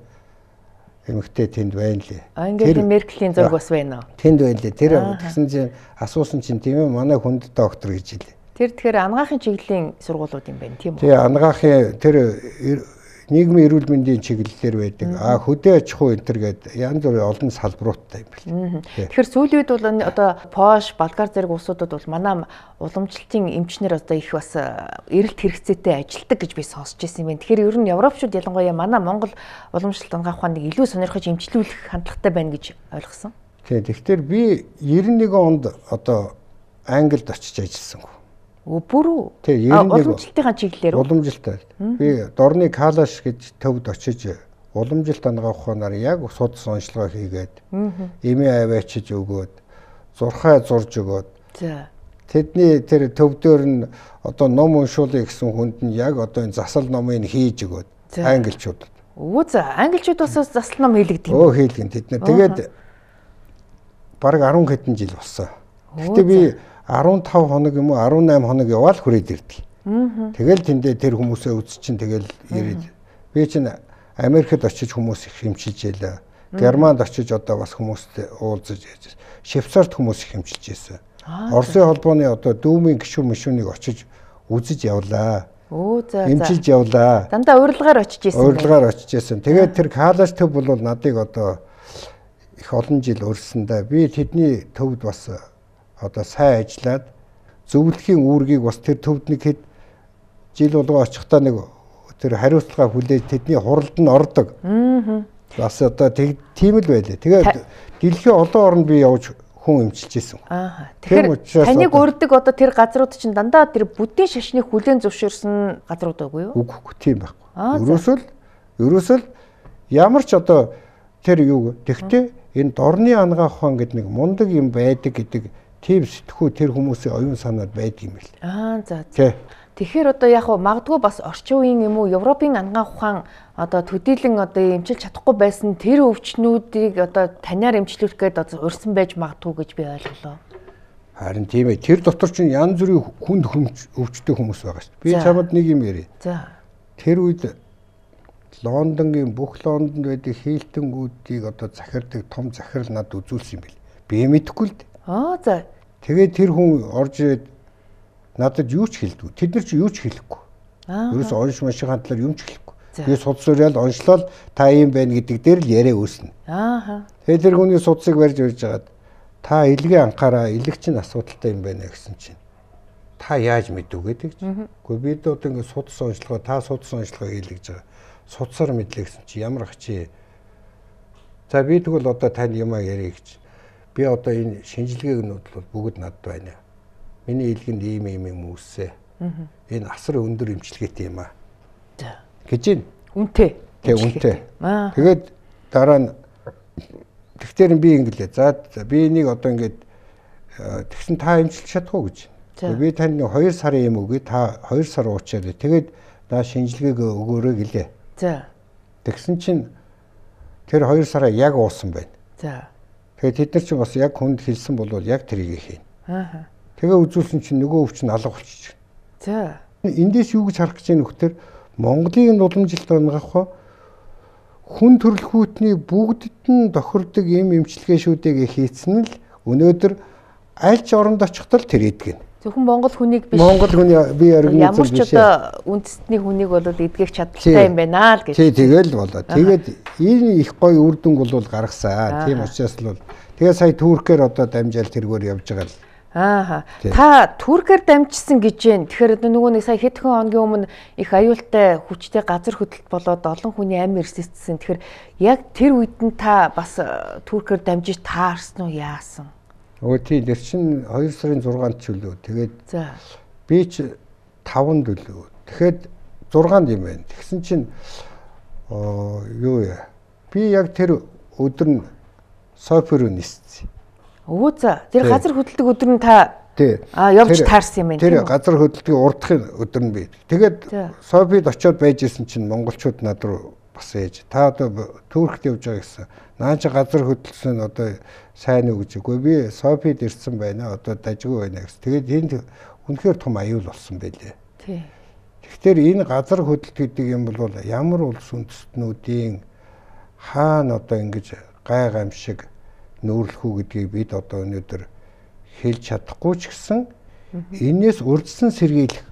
эмэгтэй тэнд байна лээ.
Ангела Меркелийн зураг бас байна уу?
Тэнд байна лээ. Тэр тэгсэн чинь асуусан чинь тийм ээ манай хүндэт доктор гэж хэлээ.
Тэр тэгэхээр ангаахын чиглэлийн сургуулиуд юм байна тийм үү?
Тэгээ ангаахын тэр нийгмийн эрүүл мэндийн чиглэлээр байдаг. А хөдөө аж ахуй энэ төр гэдэг янз бүрийн олон салбаруудтай юм байна.
Тэгэхээр сүүлийн үед бол одоо Польш, Болгар зэрэг улсуудад бол манай уламжлалтын эмчнэр одоо их бас эрэлт хэрэгцээтэй ажилтдаг гэж би сонсч байсан юм байна. Тэгэхээр ер нь Европчууд ялангуяа манай Монгол уламжлалт ангаах ухааныг илүү сонирхож эмчлүүлэх хандлагатай байна гэж ойлгосон. Тийм.
Тэгэхээр би девяносто нэгэн онд одоо Англид очиж ажилласан.
Бүр үү?
Тийм,
уламжлалтын чиглэлээр
уламжлалтай. Би Дорны Калаш гэж төвд очиж уламжлалт ангаах ухаанаар яг судас онцлогоо хийгээд эмээ аваачиж өгөөд зурхаа зурж өгөөд.
За.
Тэдний тэр төв дээр нь одоо ном уншуулъя гэсэн хүнд нь яг одоо энэ засал номыг хийж өгөөд англичуудад.
Өө за, англичууд бас засал ном хийлэгдэг
Өө
юм.
хийлгэн тэд нар. Тэгээд бараг арван хэдэн жил болсон. Гэхдээ би арван тав хоног юм уу арван найм хоног яваал хүрээд ирдэг. Тэгэл тэндээ тэр хүмүүсээ үзчин тэгэл ирээд би чинь Америкт очиж хүмүүс их хэмчилж ялаа. Германд очиж одоо бас хүмүүстэй уулзаж яаж. Швейцарт хүмүүс их хэмчилж байсан. Оросын холбооны одоо дүүмийн гишүүн мишүүнийг очиж үзэж явлаа.
Оо за за.
Хэмчилж явлаа.
Дандаа урилгаар очиж ирсэн.
Урилгаар очиж ирсэн. Тэгээд тэр Калаш төв бол надыг одоо их олон жил өрсөндөө би тэдний төвд бас одоо сайн ажиллаад зөвлөхийн үүргийг бас тэр төвд нэг хэд жил болгоо очихдаа нэг тэр хариуцлага хүлээж тэдний хуралд нь ордог. Аа. Бас одоо тийм л байлээ. Тэгээд дэлхийн олон оронд би явж хүн эмчилж исэн.
Аа. Тэгэхээр таныг урддаг одоо тэр газрууд чинь дандаа тэр бүдгийн шашныг хүлээн зөвшөөрсөн газрууд байггүй юу?
Үгүй тийм байхгүй. Ерөөсөл ерөөсөл ямар ч одоо тэр юу гэхдээ энэ дорны ангаах ухаан гэдэг нэг мундаг юм байдаг гэдэг тийм сэтгхүү тэр хүмүүсийн оюун санаад байдаг юм байна.
Аа за за. Тэгэхээр одоо яг хуу магадгүй бас орчин үеийн юм уу Европын ангаах ухаан одоо төдийлөн одоо эмчилж чадахгүй байсан тэр өвчнүүдийг одоо танаар эмчлүүлэх гээд одоо урьсан байж магадгүй гэж би ойлголоо.
Харин тийм ээ. Тэр дотор чинь янз бүрийн хүнд өвчтэй хүмүүс байгаа шүү дээ. Би чамд нэг юм ярив.
За.
Тэр үед Лондонгийн бүх Лондонд байдаг хийлтэнгүүдийг одоо захирдаг том захирал над үзүүлсэн юм бэл. Би мэдэхгүй л дээ.
Аа за.
Тэгээд тэр хүн орж ирээд надад юу ч хэлдэггүй. Тэд нар ч юу ч хэлэхгүй. Аа. Ерөөс онш машийн талаар юм ч хэлэхгүй. Би судас уриал оншлол та юм байна гэдэг дээр л яриа үүснэ.
Аа.
Тэгээд тэр хүний судасыг барьж урьж хагаад та илгээ анхаараа илэг чинь асуудалтай юм байна гэсэн чинь та яаж мэдв гэдэг чинь. Гэхдээ бид одоо ингэ судас онцлогоо та судас онцлогоо хийлгэж байгаа. Судсаар мэдлээ гэсэн чи ямар ачи. За би тэгвэл одоо тань юмаа ярих гэж. Би одоо энэ шинжилгээгнүүд бол бүгд надад байна. Миний илгэнд ийм ийм юм үүсэ. Энэ асар өндөр эмчилгээтэй юм аа.
За.
Гэж байна.
Үнтэй.
Тэг үнтэй. Тэгээд дараа нь тэгтэр би ингэлээ. За би энийг одоо ингээд тэгсэн та эмчилж чадахгүй гэж. Би танд хоёр сарын юм өгье. Та хоёр сар уучаарай. Тэгээд наа шинжилгээг өгөөрэй гэлээ.
За.
Тэгсэн чинь тэр хоёр сараа яг уусан байна.
За.
Тэгээд тэд нар чинь бас яг хүнд хэлсэн бол яг тэрийг хийнэ.
Аа.
Тэгээ үзүүлсэн чинь нөгөө өвч нь алга болчих.
За.
Эндээс юу гэж харах гэж байна вөхтөр Монголын уламжилт ангаах хүн төрөлхүүтний бүгдд нь тохирдог юм эмчилгээ шүүдээг хийцэн л өнөөдөр аль ч оронд очихдол тэр эдгэн.
Зөвхөн Монгол хүнийг биш.
Монгол хүний би организм
Ямар ч
биш.
одоо үндэстний хүнийг бол эдгэх чадaltaй юм байна л гэж.
Тий, тэгэл болоо. Тэгээд энэ их гоё үр дүн бол гаргасан. Тийм учраас л бол тэгээ сая Туркээр одоо дамжаал тэргээр явж байгаа л.
Аа. Та Туркээр дамжсан гэж байна. Тэгэхээр нөгөө нэг сая хэдхэн хоногийн өмнө их аюултай хүчтэй газар хөдлөлт болоод олон хүний амь эрсэлтсэн. Тэгэхээр яг тэр үед нь та бас Туркээр дамжиж таарсан уу яасан?
Өө тий тэр чин хоёр сарын зургаанд ч үлээ. Тэгээд
за
би ч таванд үлээ. Тэгэхэд зургаанд юм байна. Тэгсэн чинь оо юу яа. Би яг тэр өдөр нь Софиро ниссэн.
Өө за тэр газар хөдлөлтөг өдөр нь та а явж таарсан юм байна.
Тэр газар хөдлөлтийн урдахын өдөр нь би. Тэгээд Софид очиод байж исэн чинь монголчууд над руу бас ээж та одоо Туркт явж байгаа гэсэн. Наа чи газар хөдлөлсөн одоо сайн уу гэж үгүй би Софид ирсэн байна. Одоо дажгүй байна гэсэн. Тэгээд энд үнэхээр том аюул болсон байлээ.
Тий.
Тэгэхээр энэ газар хөдлөлт гэдэг юм бол ямар улс үндэстнүүдийн хаана одоо ингэж гай гамшиг нүүрлэх үү гэдгийг бид одоо өнөөдөр хэлж чадахгүй ч гэсэн энээс урдсан сэргийлэх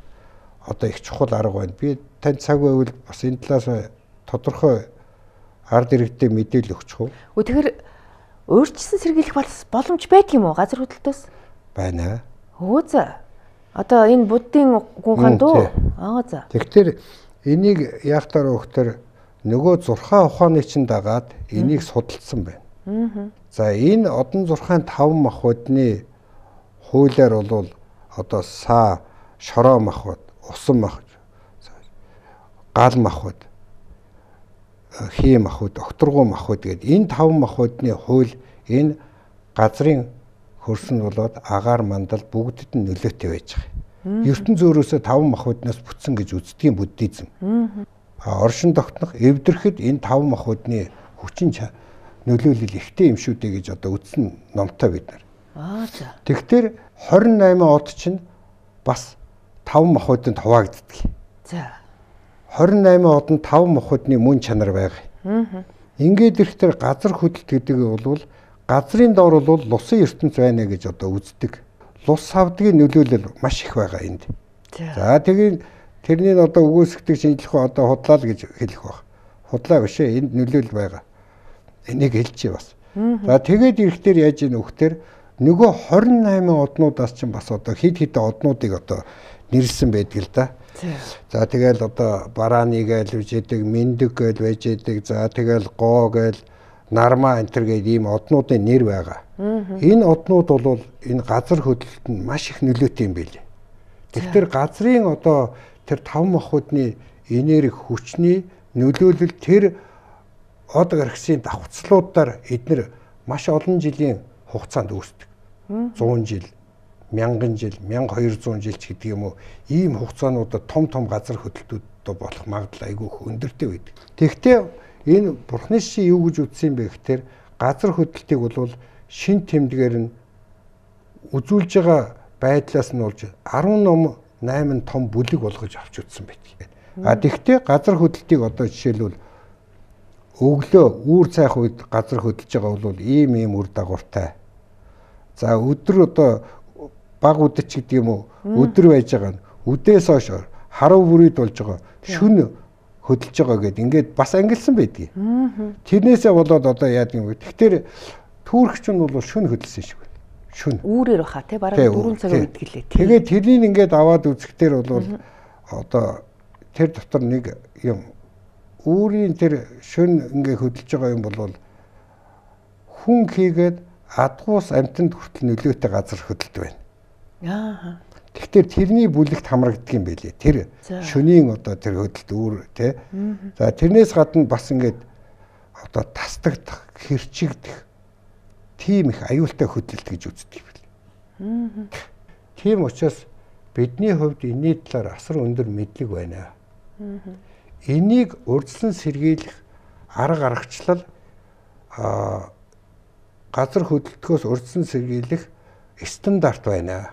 одоо их чухал арга байна. Би танд цаг байвал бас энэ талаас тодорхой ард иргэдэд мэдээлэл өгчих үү?
Өө тэгэхээр өөрчлөсөн сэргийлэх боломж байдаг юм уу газар хөдлөлтөөс?
Байна.
Өө за. Одоо энэ буддын гүнхан дөө. Аа за.
Тэгэхээр энийг яахтаар өгтөр нөгөө зурхаа ухааны чинь дагаад энийг судалсан байна.
Аа.
За энэ одон зурхаан таван махбодны хуулиар бол одоо саа, шороо махбод, усан махбод, гал махбод, хий махбод, окторгуу махбод гэдэг энэ таван махбодны хууль энэ газрын хөрсөн болоод агаар мандал бүгдэд нь нөлөөтэй байж байгаа. ертөнц зөөрөөсөө таван махбодноос бүтсэн гэж үздэг буддизм. Аа оршин тогтнох эвдэрхэд энэ таван махбодны хүчин нөлөөлөл ихтэй юм шүү дээ гэж одоо үтсэн номтой бид нар.
Аа за.
Тэгэхээр хорин найман од чинь бас таван махбодын хуваагддаг.
За.
хорин найман одон тав мохотны мөн чанар байгаа. Ингээд ирэхээр газар хөдлөлт гэдэг нь бол газрын доор бол лусын ертөнц байна гэж одоо үздэг. Лус савдгийн нөлөөлөл маш их байгаа энд. За тэгээд тэрний одоо өгөөсгдөг шинжлэх ухаан одоо худлаа л гэж хэлэх баг. Худлаа биш ээ, энд нөлөөлөл байгаа. Энийг хэлчихье бас. За тэгээд ирэхээр яаж ийн өгөхдөр нөгөө хорин найман однуудаас ч бас одоо хид хид однуудыг одоо нэрлсэн байдаг л да. За тэгэл одоо барааны гээл байж идэг, мэндэг гээл байж идэг, за тэгэл гоо гээл, нарма энтер гээд ийм однуудын нэр байгаа. Энэ однууд бол энэ газар хөдлөлтөнд маш их нөлөөтэй юм билээ. Тэгэхээр газрын одоо тэр тав мохуудны энерги хүчний нөлөөлөл тэр од гаргсын давхцлуудаар эднэр маш олон жилийн хугацаанд үүсдэг. зуун жил, мянган жил, мянга хоёр зуун жил ч гэдэг юм уу, ийм хугацаануудад том том газар хөдлөлтүүд болох магадлал айгүй их өндөртэй байдаг. Тэгэхдээ энэ Бурхны шишин юу гэж үзсэн бэ гэхээр газар хөдлөлтийг бол шин тэмдгээр нь үзүүлж байгаа байдлаас нь болж арван ном найман том бүлэг болгож авч үзсэн байдаг. А тэгвэл газар хөдлөлтийг одоо жишээлбэл өглөө үүр цайх үед газар хөдлөж байгаа бол ийм ийм үр дагавартай. За өдөр одоо баг үдэч гэдэг юм уу, өдөр байж байгаа нь үдээс хойш харав бүрийд болж байгаа шүн хөдөлж байгаа гэд ингээд бас ангилсан байдгийг. Тэрнээсээ болоод одоо яадаг юм бэ? Тэгэхээр түүрэгч нь бол шүн хөдөлсөн шиг байна. Шүн.
Үүрээр баха тий бараг дөрвөн цагаар үдгэлээ.
Тэгээд тэрнийг ингээд аваад үзэхдээ бол одоо тэр дотор нэг юм үүрийн тэр шүн ингээд хөдөлж байгаа юм бол хүн хийгээд адгуус амтанд хүртэл нөлөөтэй газар хөдөлт байна. Аа. Тэгэхээр тэрний бүлэгт хамрагддаг юм байлээ. Тэр шөнийн одоо тэр хөдөлт үүр тий. За тэрнээс гадна бас ингээд одоо тасдагдах, хэрчигдэх тийм их аюултай хөдөлт гэж үздэг юм байна. Тийм учраас бидний хувьд энэний талаар асар өндөр мэдлэг байна. Энийг урьдчилан сэргийлэх арга аргачлал а газар хөдлөлтөөс урьдчилан сэргийлэх стандарт байна.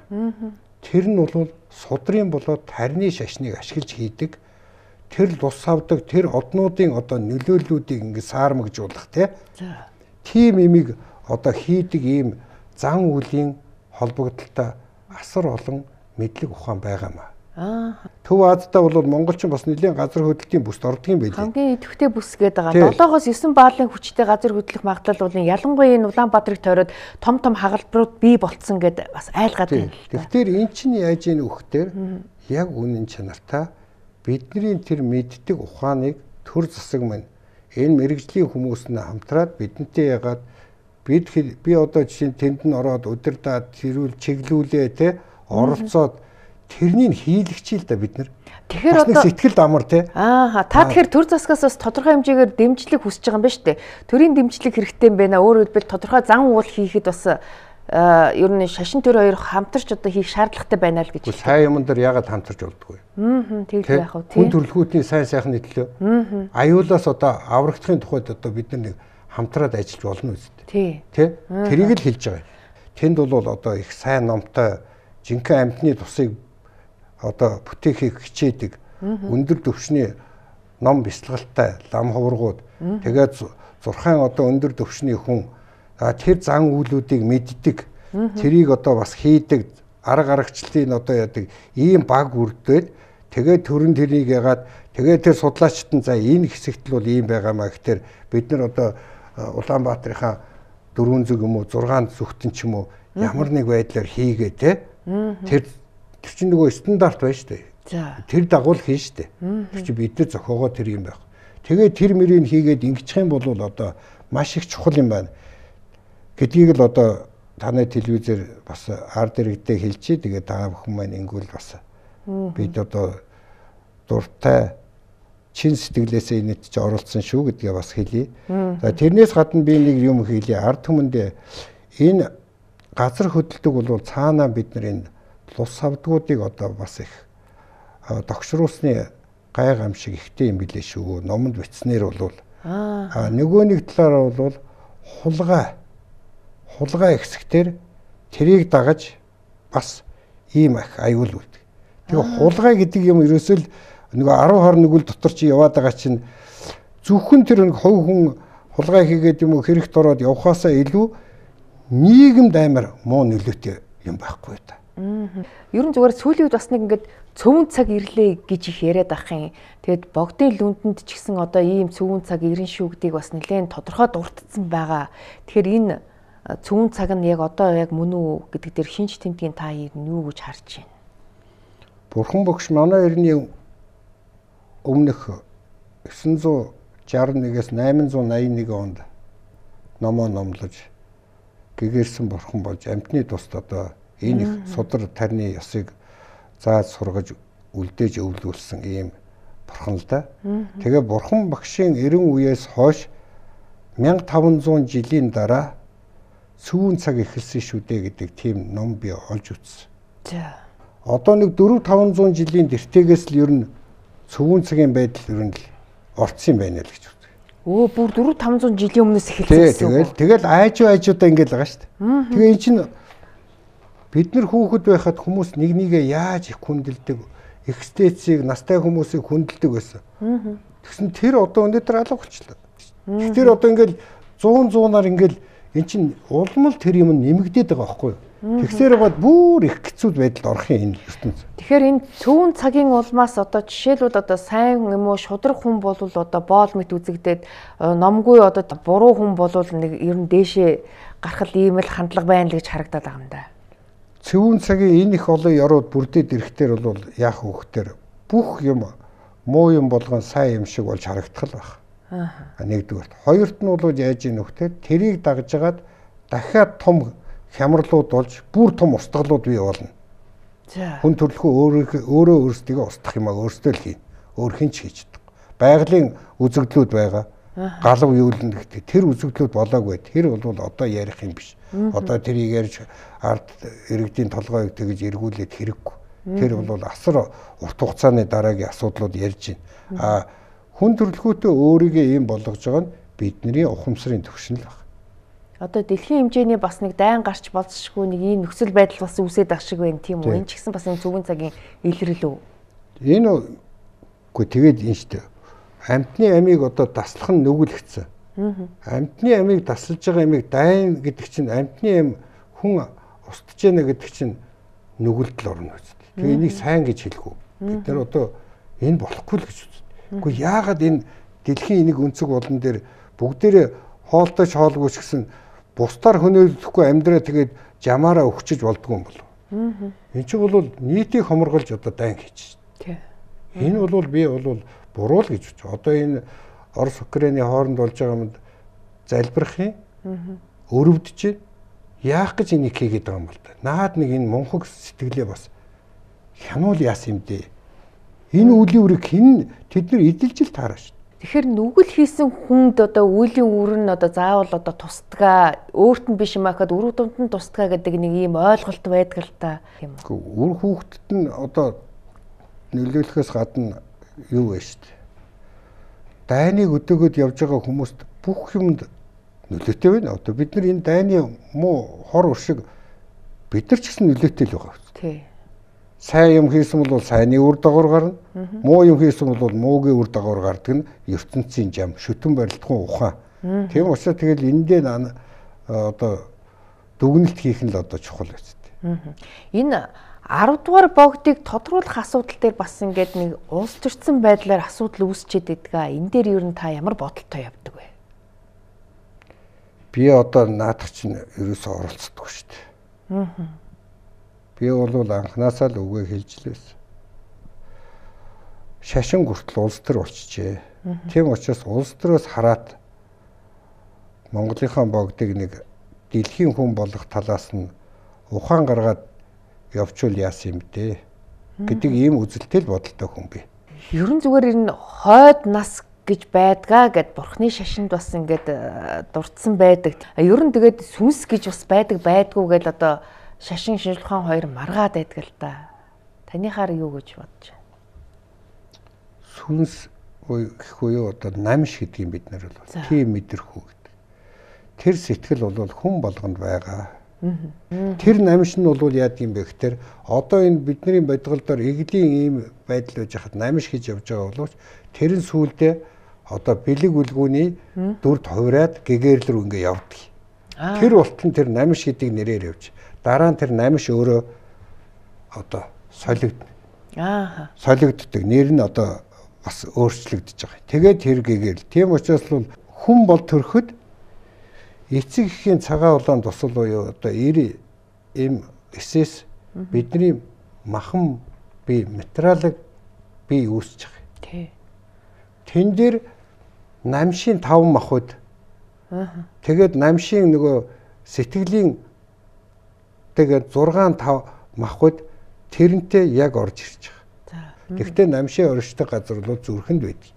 Тэр нь бол судрын болоод тарины шашныг ашиглаж хийдэг. Тэр лус авдаг, тэр однуудын одоо нөлөөллүүдийг ингэ саармагжуулах тийм имийг одоо хийдэг ийм зан үлийн холбогдолтой асар олон мэдлэг ухаан байгаамаа. Аа. Төв Азиудаа бол монголчин бас нэлийн газар хөдлөлтийн бүсд ордог юм байлээ.
Хамгийн идэвхтэй бүс гэдэг байгаа. долоогоос девять баалын хүчтэй газар хөдлөх магадлал бол ялангуяа энэ Улаанбаатарыг тойроод том том хагалбарууд бий болцсон гэд бас айлгаад байна.
Тэгэхээр эн чинь яаж ийн өгөхдөр яг үнэн чанартай бидний тэр мэддэг ухааныг төр засаг мань энэ мэрэгжлийн хүмүүс нь хамтраад бидэнтэй ягаад бид би одоо жишээ нь тэнд нь ороод удирдаад тэрүүл чиглүүлээ те оролцоод тэрнийг хийлэгчээ л да бид нар. Тэгэхээр одоо сэтгэл амар те.
Аа та тэгэхээр төр засгаас бас тодорхой хэмжээгээр дэмжлэг хүсэж байгаа юм байна шүү дээ. Төрийн дэмжлэг хэрэгтэй юм байна. Өөрөөр хэлбэл тодорхой зан уул хийхэд бас ер нь шашин төр хоёр хамтарч одоо хийх шаардлагатай байна л гэж.
Сайн юм дээр яагаад хамтарч болдгоо.
Аа тэгэл яах вэ?
Хүн төрөлхүүдний сайн сайхны төлөө. Аюулаас одоо аврагдахын тухайд одоо бид нар нэг хамтраад ажиллаж болно үстэй. Тий. Тэ? Тэрийг л хэлж байгаа. Тэнд бол одоо их сайн номтой жинхэнэ амьтны тусыг одоо бүтээхийг хичээдэг өндөр төвшний ном бяцлагалтай лам хуврагууд тэгээд зурхаан одоо өндөр төвшний хүн тэр зан үйлүүдийг мэддэг тэрийг одоо бас хийдэг арга аргачлалын одоо яадаг ийм баг үрдээд тэгээд төрөн тэрийг ягаад тэгээд тэр судлаачид нь за энэ хэсэгт л бол ийм байгаамаа гэхээр бид нар одоо Улаанбаатарынхаа дөрвөн зүг юм уу зургаан зүгтэн ч юм уу ямар нэг байдлаар хийгээ те тэр Тэр чинь нөгөө стандарт байна шүү дээ. За. Тэр дагуул хийн шүү дээ. Тэр чинь бид нар зохиогоо тэр юм байх. Тэгээд тэр мөрийг хийгээд ингэчих юм бол одоо маш их чухал юм байна. Гэдгийг л одоо таны телевизээр бас ард иргэдээ хэлчихье. Тэгээд та бүхэн маань ингэвэл бас бид одоо дуртай чин сэтгэлээсээ энэт чи оролцсон шүү гэдгээ бас хэлье. За тэрнээс гадна би нэг юм хэлье. Ард түмэндээ энэ газар хөдлөлтөг бол цаанаа бид нар энэ лус авдгуудыг одоо бас их тогшруулсны гай гам шиг ихтэй юм билээ шүү. Номонд бичснээр бол аа нөгөө нэг талаараа бол хулгай хулгай хэсэгтэр тэрийг дагаж бас ийм их аюул үүдэг. Тэгээ хулгай гэдэг юм ерөөсөө л нөгөө арав хор нүгэл дотор чи яваад байгаа чинь зөвхөн тэр нэг хувь хүн хулгай хийгээд юм уу хэрэгт ороод явхаасаа илүү нийгэмд амар муу нөлөөтэй юм байхгүй та.
Ер нь зүгээр сүүлийн үед бас нэг ингээд цөвөн цаг ирлээ гэж их яриад ах юм. Тэгэд богдын лүндэнд ч гэсэн одоо ийм цөвөн цаг ирэн шүү гэдгийг бас нэлээд тодорхой дурдсан байгаа. Тэгэхээр энэ цөвөн цаг нь яг одоо яг мөн үү гэдэг дээр шинж тэмдгийн та юу гэж харж байна?
Бурхан багш манай эртний өмнөх дев'ять шестьдесят нэгээс восемь восемь один онд номоо номлож гэгэрсэн бурхан болж амьтны тусд одоо энэ их судар тарны ёсыг зааж сургаж үлдээж өвлүүлсэн ийм бурхан л да. Тэгээ бурхан багшийн эрен үеэс хойш мянга таван зуун жилийн дараа сүүн цаг эхэлсэн шүү дээ гэдэг тийм ном би олж үзсэн.
За.
Одоо нэг дөрвөн таван зуун жилийн тэртегээс л ер нь сүүн цагийн байдал ер нь л орцсон байна л гэж үздэг.
Өө бүр дөрвөн таван зуун жилийн өмнөөс эхэлсэн.
Тэгэл тэгэл айжуу айжуудаа ингэж байгаа шүү дээ. Тэгээ эн чинь бид нар хүүхэд байхад хүмүүс нэг нэгээ яаж их хүндэлдэг, экстецийг настай хүмүүсийг хүндэлдэг байсан. Тэгсэн тэр одоо өнөөдөр алга болчихлоо. Тэр одоо ингээл зуун зуунаар ингээл эн чинь улмал тэр юм нэмэгдээд байгаа байхгүй юу? Тэгсээр бод бүр их хэцүү байдалд орох юм энэ ертөнц.
Тэгэхээр энэ цөөн цагийн улмаас одоо жишээлбэл одоо сайн юм уу шудраг хүн бол одоо боол мэт үзэгдээд номгүй одоо буруу хүн бол нэг ер нь дээшээ гарах ийм л хандлага байна л гэж харагдаад байгаа юм да.
Цөөн цагийн энэ их олон ярууд бүрдээд ирэхтэр бол яах вөхтөр бүх юм муу юм болгон сайн юм шиг болж харагдах л байна. Аа. Нэгдүгээр. Хоёрт нь бол яаж ийм вөхтөр тэрийг дагж агаад дахиад том хямралууд болж бүр том устгалууд бий болно. За. Хүн төрөлхөө өөрөө өөрөө өөрсдийгөө устгах юмаа өөрсдөө л хийн. Өөр хэн ч хийж чаддаг. Байгалийн үзэгдлүүд байгаа. Галав юулн гэдэг тэр үзэгдлүүд болоогүй. Тэр бол одоо ярих юм биш. Одоо тэрийг ярьж ард иргэдийн толгойг тэгж эргүүлээд хэрэггүй. Тэр бол асар урт хугацааны дараагийн асуудлууд ярьж байна. А хүн төрөлхөөтэй өөрийгөө ийм болгож байгаа нь бидний ухамсарын төвшин л байна.
Одоо дэлхийн хэмжээний бас нэг дайн гарч болцсошгүй нэг ийм нөхцөл байдал бас үүсээд ах шиг байна тийм үү? Энэ ч гэсэн бас энэ цүгэн цагийн илэрлэл үү?
Энэ үгүй тэгээд энэ шүү дээ. Амьтны амийг одоо таслах нь нүгэлэгцэн. Амьтны амийг тасалж байгаа амийг дайн гэдэг чинь амьтны ам хүн устж яана гэдэг чинь нүгэлдэл орно үст. Тэгээ энийг сайн гэж хэлэхгүй. Бид нар одоо энэ болохгүй л гэж үздэг. Үгүй яагаад энэ дэлхийн энийг өнцөг болон дээр бүгдээрээ хоолтойч хоолгүй ч гэсэн бусдаар хөнөөлөхгүй амьдраа тэгээд жамаараа өгчөж болдгоо юм болов. Энэ чинь бол нийтийг хоморголж одоо дайн хийж байна. Энэ бол би бол буруу л гэж бодож. Одоо энэ Орос Украины хооронд болж байгаа юмд залбирах юм. Өрөвдөж яах гэж энийг хийгээд байгаа юм бол та. Наад нэг энэ мунхаг сэтгэлээ бас хянуул яасан юм дээ. Энэ үлийн үрийг хэн тэд нар эдэлж л таараа шүү.
Тэгэхээр нүгэл хийсэн хүнд одоо үеийн үр нь одоо заавал одоо тусдгаа өөрт нь биш юм ахад үр дүнд нь тусдгаа гэдэг нэг ийм ойлголт байдаг л та юм.
Үр хүүхдэд нь одоо нөлөөлөхөөс гадна юу вэ шүү дээ. Дайныг өдөөгөөд явж байгаа хүмүүст бүх юмд нөлөөтэй байна. Одоо бид нар энэ дайны муу хор уршиг бид нар ч гэсэн нөлөөтэй л байгаа.
Тий.
Сайн юм хийсэн бол сайнны үр дагавар гарна. Муу юм хийсэн бол муугийн үр дагавар гардаг нь ертөнцийн жам, шүтэн барилдахын ухаан. Тийм учраас тэгэл эндээ одоо дүгнэлт хийх нь л одоо чухал байцтай.
Энэ арав дугаар богдыг тодруулах асуудал дээр бас ингээд нэг улс төрсэн байдлаар асуудал үүсчээд байдаг. Энэ дээр ер нь та ямар бодолтой явдаг вэ?
Би одоо наадах чинь ерөөсөө оролцдог шүү дээ. Аа. Би бол анханасаа л үгээ хэлжлээс. Шашин хүртэл улс төр болчихжээ. Тийм учраас улс төрөөс хараад Монголынхаа богдыг нэг дэлхийн хүн болох талаас нь ухаан гаргаад явчвал яасан юм дээ гэдэг ийм үзэлтэй л бодолтой хүн би.
Ерөн зүгээр энэ хойд нас гэж байдгаа гэд бурхны шашинд бас ингээд дурдсан байдаг. Ерөн тэгээд сүнс гэж бас байдаг байдгүй гэл одоо шашин шинжлэх ухаан хоёр маргаад байдаг л да. Танихаар юу гэж бодож байна?
Сүнс гэхгүй юу одоо намш гэдгийг бид нар бол тийм мэдэрхүү гэдэг. Тэр сэтгэл бол хүн болгонд байгаа. Тэр намш нь бол яадаг юм бэ гэхээр одоо энэ бидний бодголдоор эглийн ийм байдал байж хахад намш гэж явж байгаа боловч тэр нь сүүлдээ одоо бэлэг үлгүүний дүрд хувраад гэгэрл рүү ингээ явдаг. Тэр болтон тэр намш гэдэг нэрээр явж. Дараа нь тэр намш өөрөө одоо солигдно. Аа. Солигддог. Нэр нь одоо бас өөрчлөгдөж байгаа. Тэгээд тэр гэгэрл. Тийм учраас бол хүн бол төрөхөд эцэг эхийн цагаан улаан тусал буюу одоо эр эм эсэс бидний махан бие материалыг бие үүсэж байгаа. Тий. Тэн дээр намшийн таван махуд. Аа. Тэгээд намшийн нөгөө сэтгэлийн тэгээд зургаан тав махуд тэрнтэй яг орж ирж байгаа. Гэхдээ намшийн оршдог газар бол зүрхэнд байдаг.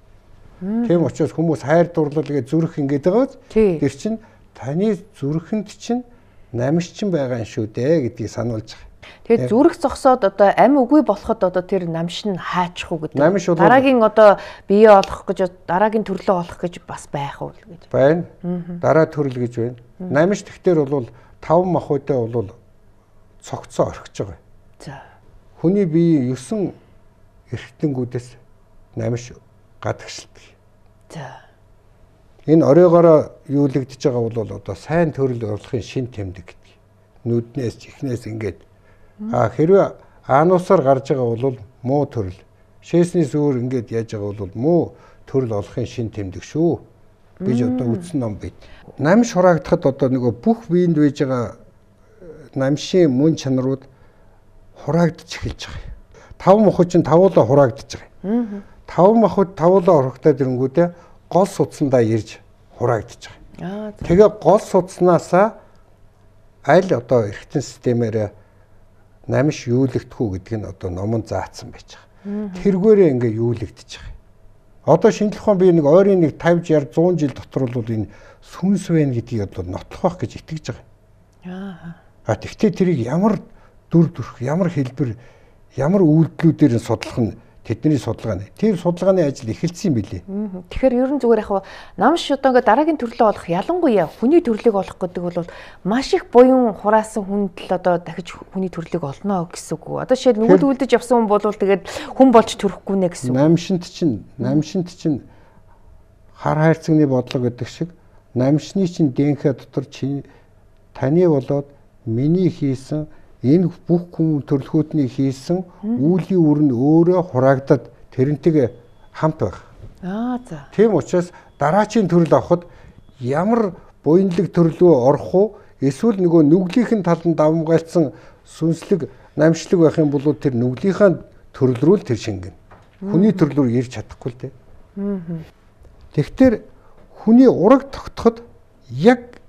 Тийм учраас хүмүүс хайр дурлал гэж зүрх ингэж байгааз тэр чинь таны зүрхэнд чинь намш чинь байгаа юм шүү дээ гэдгийг сануулж байгаа.
Тэгээд зүрх зогсоод одоо амь үгүй болоход одоо тэр намш нь хаачих уу гэдэг. Дараагийн одоо бие олох гэж дараагийн төрлөө олох гэж бас байх уу гэж.
Байна. Дараа төрөл гэж байна. Намш тэгтэр бол таван махуйтай бол цогцоо орхиж байгаа. За. Хүний бие есөн эрхтэнгүүдээс намш гадагшилдаг. За. Энэ оройгоороо юулэгдэж байгаа бол одоо сайн төрөл орлохын шин тэмдэг гэдэг. Нүднээс чихнээс ингээд а хэрвээ аануусаар гарч байгаа бол муу төрөл. Шээснээс өөр ингээд яаж байгаа бол муу төрөл олохын шин тэмдэг шүү. Биж одоо үтсэн ном бит. Намш хураагдахад одоо нөгөө бүх биеинд байж байгаа намшийн мөн чанарууд хураагдж эхэлж байгаа. Таван махуд чинь тавуулаа хураагдж байгаа. Таван махуд тавуулаа хурагтаад ирэнгүүтээ гол судсандаа ирж хураагдж байгаа. Тэгээ гол судснаасаа аль одоо эргэтэн системээр намш юулэгдэх үү гэдг нь одоо номон заасан байж байгаа. Тэргээрээ ингээ юулэгдэж байгаа. Одоо шинжлэх ухаан бие нэг ойрын нэг тавьж яар зуун жил дотор бол энэ сүнс байна гэдгийг одоо нотлох байх гэж итгэж байгаа. Аа. А тэгтээ тэрийг ямар дүр төрх, ямар хэлбэр, ямар үйлдэлүүдээр нь судлах нь тэдний судалгаа нь. Тэр судалгааны ажил эхэлсэн юм билээ.
Тэгэхээр ер нь зүгээр яг намш одоо ингээ дараагийн төрлөө олох ялангуяа хүний төрлийг олох гэдэг бол маш их буян хураасан хүнд л одоо дахиж хүний төрлийг олно гэсэн үг. Одоо жишээд нүгэл үлдэж явсан хүн бол тэгээд хүн болж төрөхгүй нэ гэсэн үг.
Намшинт чинь намшинт чинь хар хайрцагны бодлого гэдэг шиг намшны чинь ДНХ дотор чи таны болоод миний хийсэн энэ бүх хүн төрлөхүүдний хийсэн үүлийн үр нь өөрөө хураагдаад тэрнтэйг хамт байх.
Аа за.
Тийм учраас дараачийн төрөл авахд ямар буянлаг төрлөө орох уу эсвэл нөгөө нүглийнхэн талд давмгайлсан сүнслэг намшлаг байх юм бол тэр нүглийнхаа төрөл рүү л тэр шингэн. Хүний төрөл рүү ирж чадахгүй л дээ. Аа. Тэгэхээр хүний ураг тогтоход яг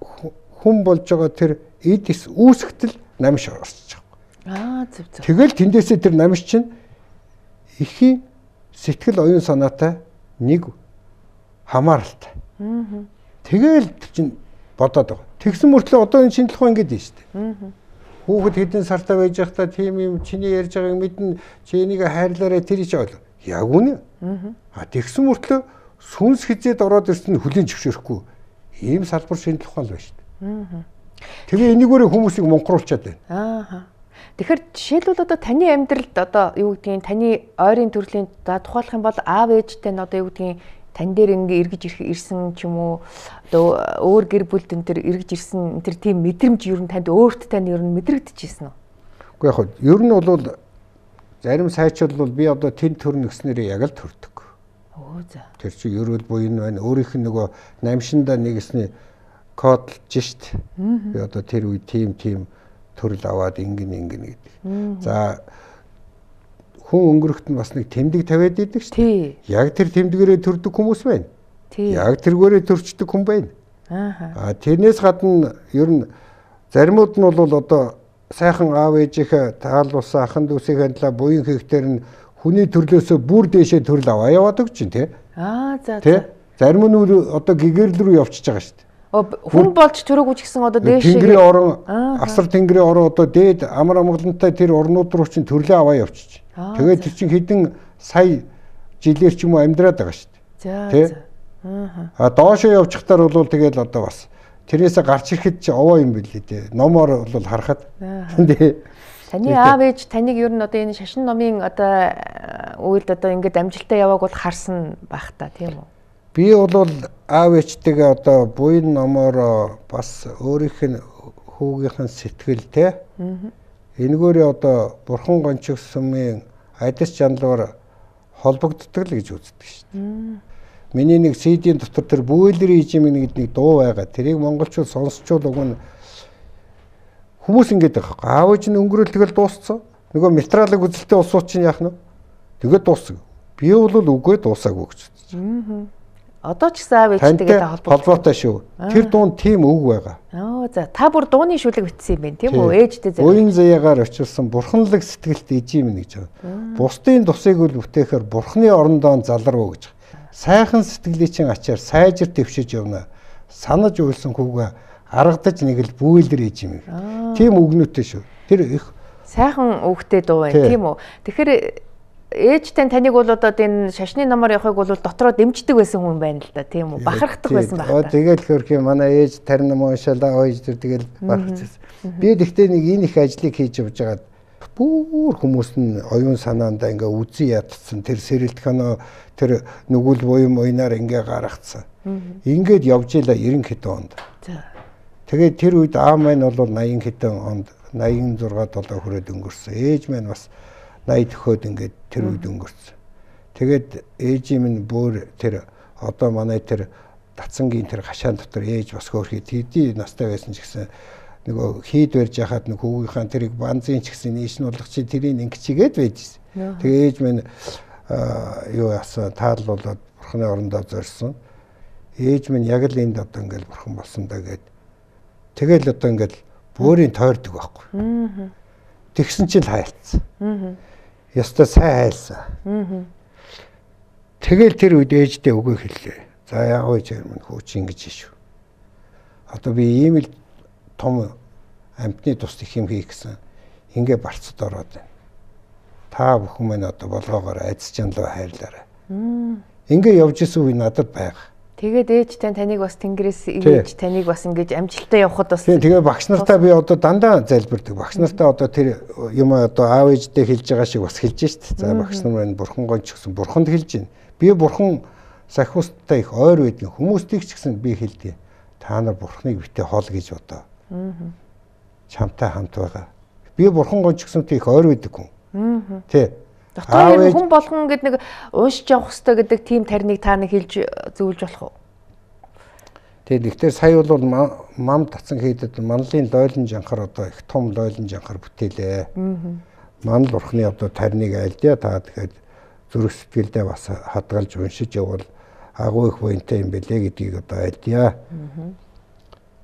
хүн болж байгаа тэр эдис үүсгтэл намш орсож
байгаа. Аа зөв зөв.
Тэгэл тэндээсээ тэр намш чинь ихийн сэтгэл оюун санаатай нэг хамааралтай. Аа. Тэгэл чинь бодоод байгаа. Тэгсэн мөртлөө одоо энэ шинжлэх ухаан ингэж байна шүү дээ. Аа. Хүүхэд хэдэн сартай байж байхдаа тийм юм чиний ярьж байгааг мэднэ чи энийг хайрлаарай тэр их ойл. Яг үнэ. Аа. А тэгсэн мөртлөө сүнс хизээд ороод ирсэн хүлийн зөвшөөрөхгүй. Ийм салбар шинжлэх ухаан л байна шүү дээ. Аа. Тэгээ энийгээрээ хүмүүсийг монхруулчаад байна.
Аа. Тэгэхээр жишээлбэл одоо таны амьдралд одоо юу гэдгийг таны ойрын төрлийн за тухайлах юм бол аав ээжтэй нь одоо юу гэдгийг тань дээр ингээ эргэж ирсэн ч юм уу одоо өөр гэр бүлд энэ төр эргэж ирсэн энэ төр тийм мэдрэмж ер нь танд өөрт тань ер нь мэдрэгдэжсэн үү?
Үгүй яг хөө ер нь бол зарим сайчууд бол би одоо тэн төр нэгснэрээ яг л төрдөг.
Оо за.
Тэр чи ерөөл буйн байна. Өөрийнх нь нөгөө намшиндаа нэгэсний кодлж шít. Би одоо тэр үе тим тим төрөл аваад ингэн ингэн гэдэг. За хүн өнгөрөхт нь бас нэг тэмдэг тавиад идэг шүү. Яг тэр тэмдгээрээ төрдөг хүмүүс байна. Яг тэргээрээ төрчдөг хүн байна. Аа. Тэрнээс гадна ер нь заримуд нь бол одоо сайхан аав ээжийнхээ таалуулсан ахын дүүсийн хандлаа буян хийхтэр нь хүний төрлөөсөө бүр дээшээ төрөл аваа яваад өгч чинь тий.
Аа за за.
Зарим нь одоо гэгэрл рүү явчихж байгаа шүү.
Хүн болж төрөөгүй ч гэсэн одоо дээш
тэнгэрийн орон асар тэнгэрийн орон одоо дээд амар амгалантай тэр орнууд руу чинь төрлөө аваа явчих. Тэгээд тэр чинь хэдэн сая жилээр ч юм уу амьдраад байгаа шүү дээ.
За. Аа.
А доошоо явчихтаар бол тэгэл одоо бас тэрнээсээ гарч ирэхэд ч овоо юм билээ дээ. Номоор бол харахад. Тий.
Таны аав ээж таныг ер нь одоо энэ шашин номын одоо үйлд одоо ингээд амжилттай явааг бол харсан байх та тийм үү?
Би бол аав ээжтэйгээ одоо буян номоор бас өөрийнх нь хүүгийнхэн сэтгэлтэй. Энэгээрээ одоо бурхан гончиг сүмийн адис жанлуур холбогддог л гэж үздэг шүү дээ. Миний нэг си ди-ийн дотор тэр бүэлэр ижимийн гэдэг нэг дуу байгаа. Тэрийг монголчууд сонсчвол уг нь хүмүүс ингэж байгаа. Аав ээж нь өнгөрөөл тэгэл дууссан. Нөгөө материалыг үзэлтэй улсууд чинь яах нь? Тэгээд дууссан. Би бол үгүй дуусаагүй гэж бодсон.
Одоо ч гэсэн аав ээжтэйгээ
холбоотой шүү. Тэр дунд тийм үг байгаа.
Аа за та бүр дууны шүлэг бичсэн юм байна тийм үү? Ээжтэй зэрэг.
Уян заяагаар очилсан бурханлаг сэтгэлт ижим гэж байгаа. Бусдын тусыг үл бүтээхээр бурхны орондоо залруу гэж. Сайхан сэтгэлийн чин ачаар сайжир твшиж явна. Санаж уйлсан хүүгээ аргадаж нэг л бүэлэр ижим. Тийм үгнүүтэй шүү. Тэр их
сайхан үгтэй дуу байна тийм үү? Тэгэхээр ээжтэй таныг бол одоо энэ шашны номоор явахыг бол дотроо дэмждэг байсан хүн байна л да тийм үү? Бахархдаг байсан байх та.
Тэгэл хөрх юм манай ээж тарин ном уншаалаа ээж тэр тэгэл бахархчихсан. Би тэгтээ нэг энэ их ажлыг хийж явж байгаад бүр хүмүүс нь оюун санаандаа ингээ үзий ядсан тэр сэрэлтгэнөө тэр нүгэл буйм уйнаар ингээ гаргацсан. Ингээд явж ийлаа девяносто хэдэн онд. Тэгээд тэр үед аав маань бол восемьдесят хэдэн онд восемьдесят шесть долоо хүрээд өнгөрсөн. Ээж маань бас восемьдесят төхөөд ингээд тэр үед өнгөрсөн. Тэгээд ээжийн минь бүр тэр одоо манай тэр Дацангийн тэр хашаан дотор ээж бас хөөрхий тэдий настай байсан ч гэсэн нөгөө хийд барьж яхад нэг хүүгийнхаа тэрийг банзын ч гэсэн нийш нь болгох чи тэрийг ингэчигээд байжсэн. Тэгээ ээж минь юу яасан таал болоод бурхны орондоо зорьсон. Ээж минь яг л энд одоо ингээд бурхан болсон да гэд. Тэгэл одоо ингээд бөөрийн тойрдог байхгүй. Тэгсэн чинь хайлтсан. Яста сайн хайлсан. Тэгэл тэр үед ээжтэй өгөө хэллээ. За яав ээж минь хөөч ингэж шүү. Одоо би ийм л том амтны тус их юм хийх гэсэн ингээ барцад ороод байна. Та бүхэн минь одоо болгоогоор айц жанлуу хайрлаарай. Ингээ явж исэн үе надад байгаа.
Тэгээд ээжтэй таныг бас тэнгэрээс ивэж таныг бас ингэж амжилттай явахад бас
тийм тэгээ багш нартаа би одоо дандаа залбирдаг. Багш нартаа одоо тэр юм одоо аав ээжтэй хэлж байгаа шиг бас хэлж шít. За багш нар маань бурхан гонч гэсэн бурханд хэлж байна. Би бурхан сахиустай их ойр байдгийн хүмүүстийг ч гэсэн би хэлдэг. Та нар бурханыг битээ хол гэж бодоо. Чамтай хамт байгаа. Би бурхан гонч гэсэнтэй их ойр байдаг хүн. Тий.
Доктор хүн болгон гэдэг нэг уушж явах хэрэгтэй гэдэг тийм тариныг та нэг хэлж зөвлөж болох уу?
Тэгээд ихтэй сая бол мам татсан хийдэд манлын лойлон жанхар одоо их том лойлон жанхар бүтээлээ. Манл бурхны одоо тариныг айлдъя та тэгэхээр зүрх сэтгэлдээ бас хадгалж уншиж явбал агуу их буянтай юм бэлээ гэдгийг одоо айлдъя.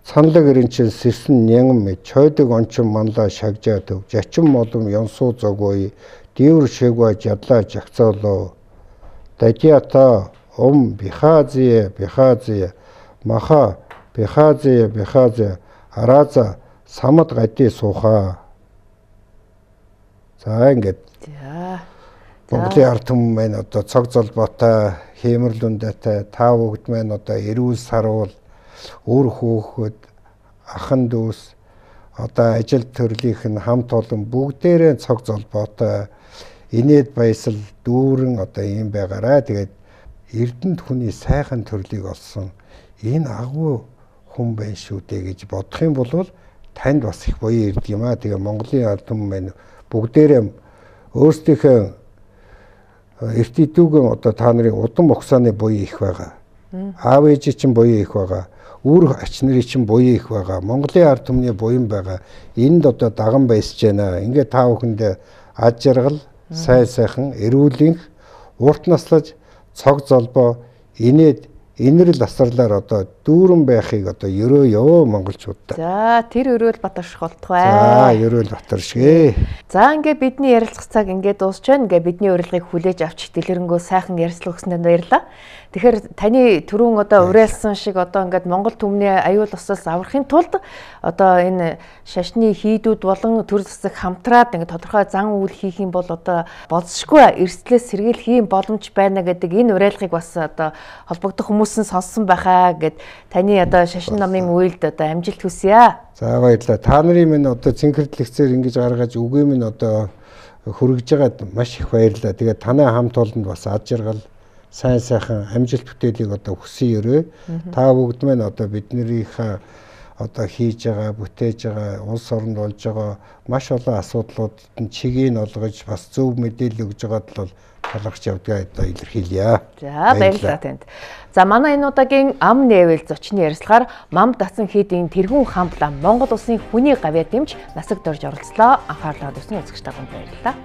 Цанлаг ирэнчин сэрсэн нянган мэд чойдог ончин манлаа шагжаа төв жачин молом ёнсуу зогой дивэр шэгва жадлаа жагцаалоо дадиата ом бихазие бихазие маха бихазие бихазие араза самад гади сууха. За ингээд Монголын ард түмэн маань одоо цог золбоотой хэмэрлүндэтэй тав бүгд маань одоо эрүүл сарвал үр хөөхөд ахан дүүс одоо ажил төрлийнх нь хамт олон бүгдээрээ цог золбоотой инээд баясал дүүрэн одоо юм байгаарай. Тэгээд эрдэнэт хүний сайхан төрлийг олсон энэ агуу хүн байна шүү дээ гэж бодох юм бол танд бас их буян ирдэг юм аа. Тэгээ Монголын ард түмэн маань бүгдээрээ өөрсдийнхөө эрт идүүгэн одоо та нарын удам ухсааны буян их байгаа. Аав ээж чинь буян их байгаа. Үр ач нарын чинь буян их байгаа. Монголын ард түмний буян байгаа. Энд одоо даган байсаж байна. Ингээ та бүхэндээ ад жаргал, сайн сайхан, эрүүлэнх, урт наслаж, цог золбоо, инээд инэрл асарлаар одоо дүүрэн байхыг одоо ерөөё монголчуудаа.
За тэр өрөөл батарших болтугай.
За ерөөл батаршгээ.
За ингээ бидний ярилцах цаг ингээ дуусч байна. Ингээ бидний урилгыг хүлээж авч дэлгэрэнгүй сайхан ярилцлага өгсөнд баярлалаа. Тэгэхээр таны түрүүн одоо уриалсан шиг одоо ингээд Монгол түмний аюул усаас аврахын тулд одоо энэ шашны хийдүүд болон төр засаг хамтраад ингээд тодорхой зан үйл хийх юм бол одоо болзошгүй эрсдлээс сэргийлэх юм боломж байна гэдэг энэ уриалгыг бас одоо холбогдох хүмүүс нь сонссон байхаа гэд таны одоо шашин намын үйлд одоо амжилт хүсье.
За баярлалаа. Та нарын минь одоо цэнхэрлэгцээр ингэж гаргаж үгээ минь одоо хүргэж байгаад маш их баярлалаа. Тэгээд танай хамт олонд бас ад жаргал сайн сайхан амжилт бүтээлийг одоо хүсье өрөө. Та бүгд маань одоо биднэрийнхээ одоо хийж байгаа, бүтээж байгаа, улс оронд болж байгаа маш олон асуудлуудад нь чигийг олгож бас зөв мэдээлэл өгж байгаад л талархж явдгаа одоо илэрхийлье.
За баярлалаа танд. За манай энэ удаагийн ам нээвэл зочны ярилцлагаар Мам Дасан хийдийн тэргүүн хамт лам Монгол улсын хүний гавьяа дэмж насаг дорж оролцлоо. Анхаарлаа тавьсан үзэгч таганд баярлалаа.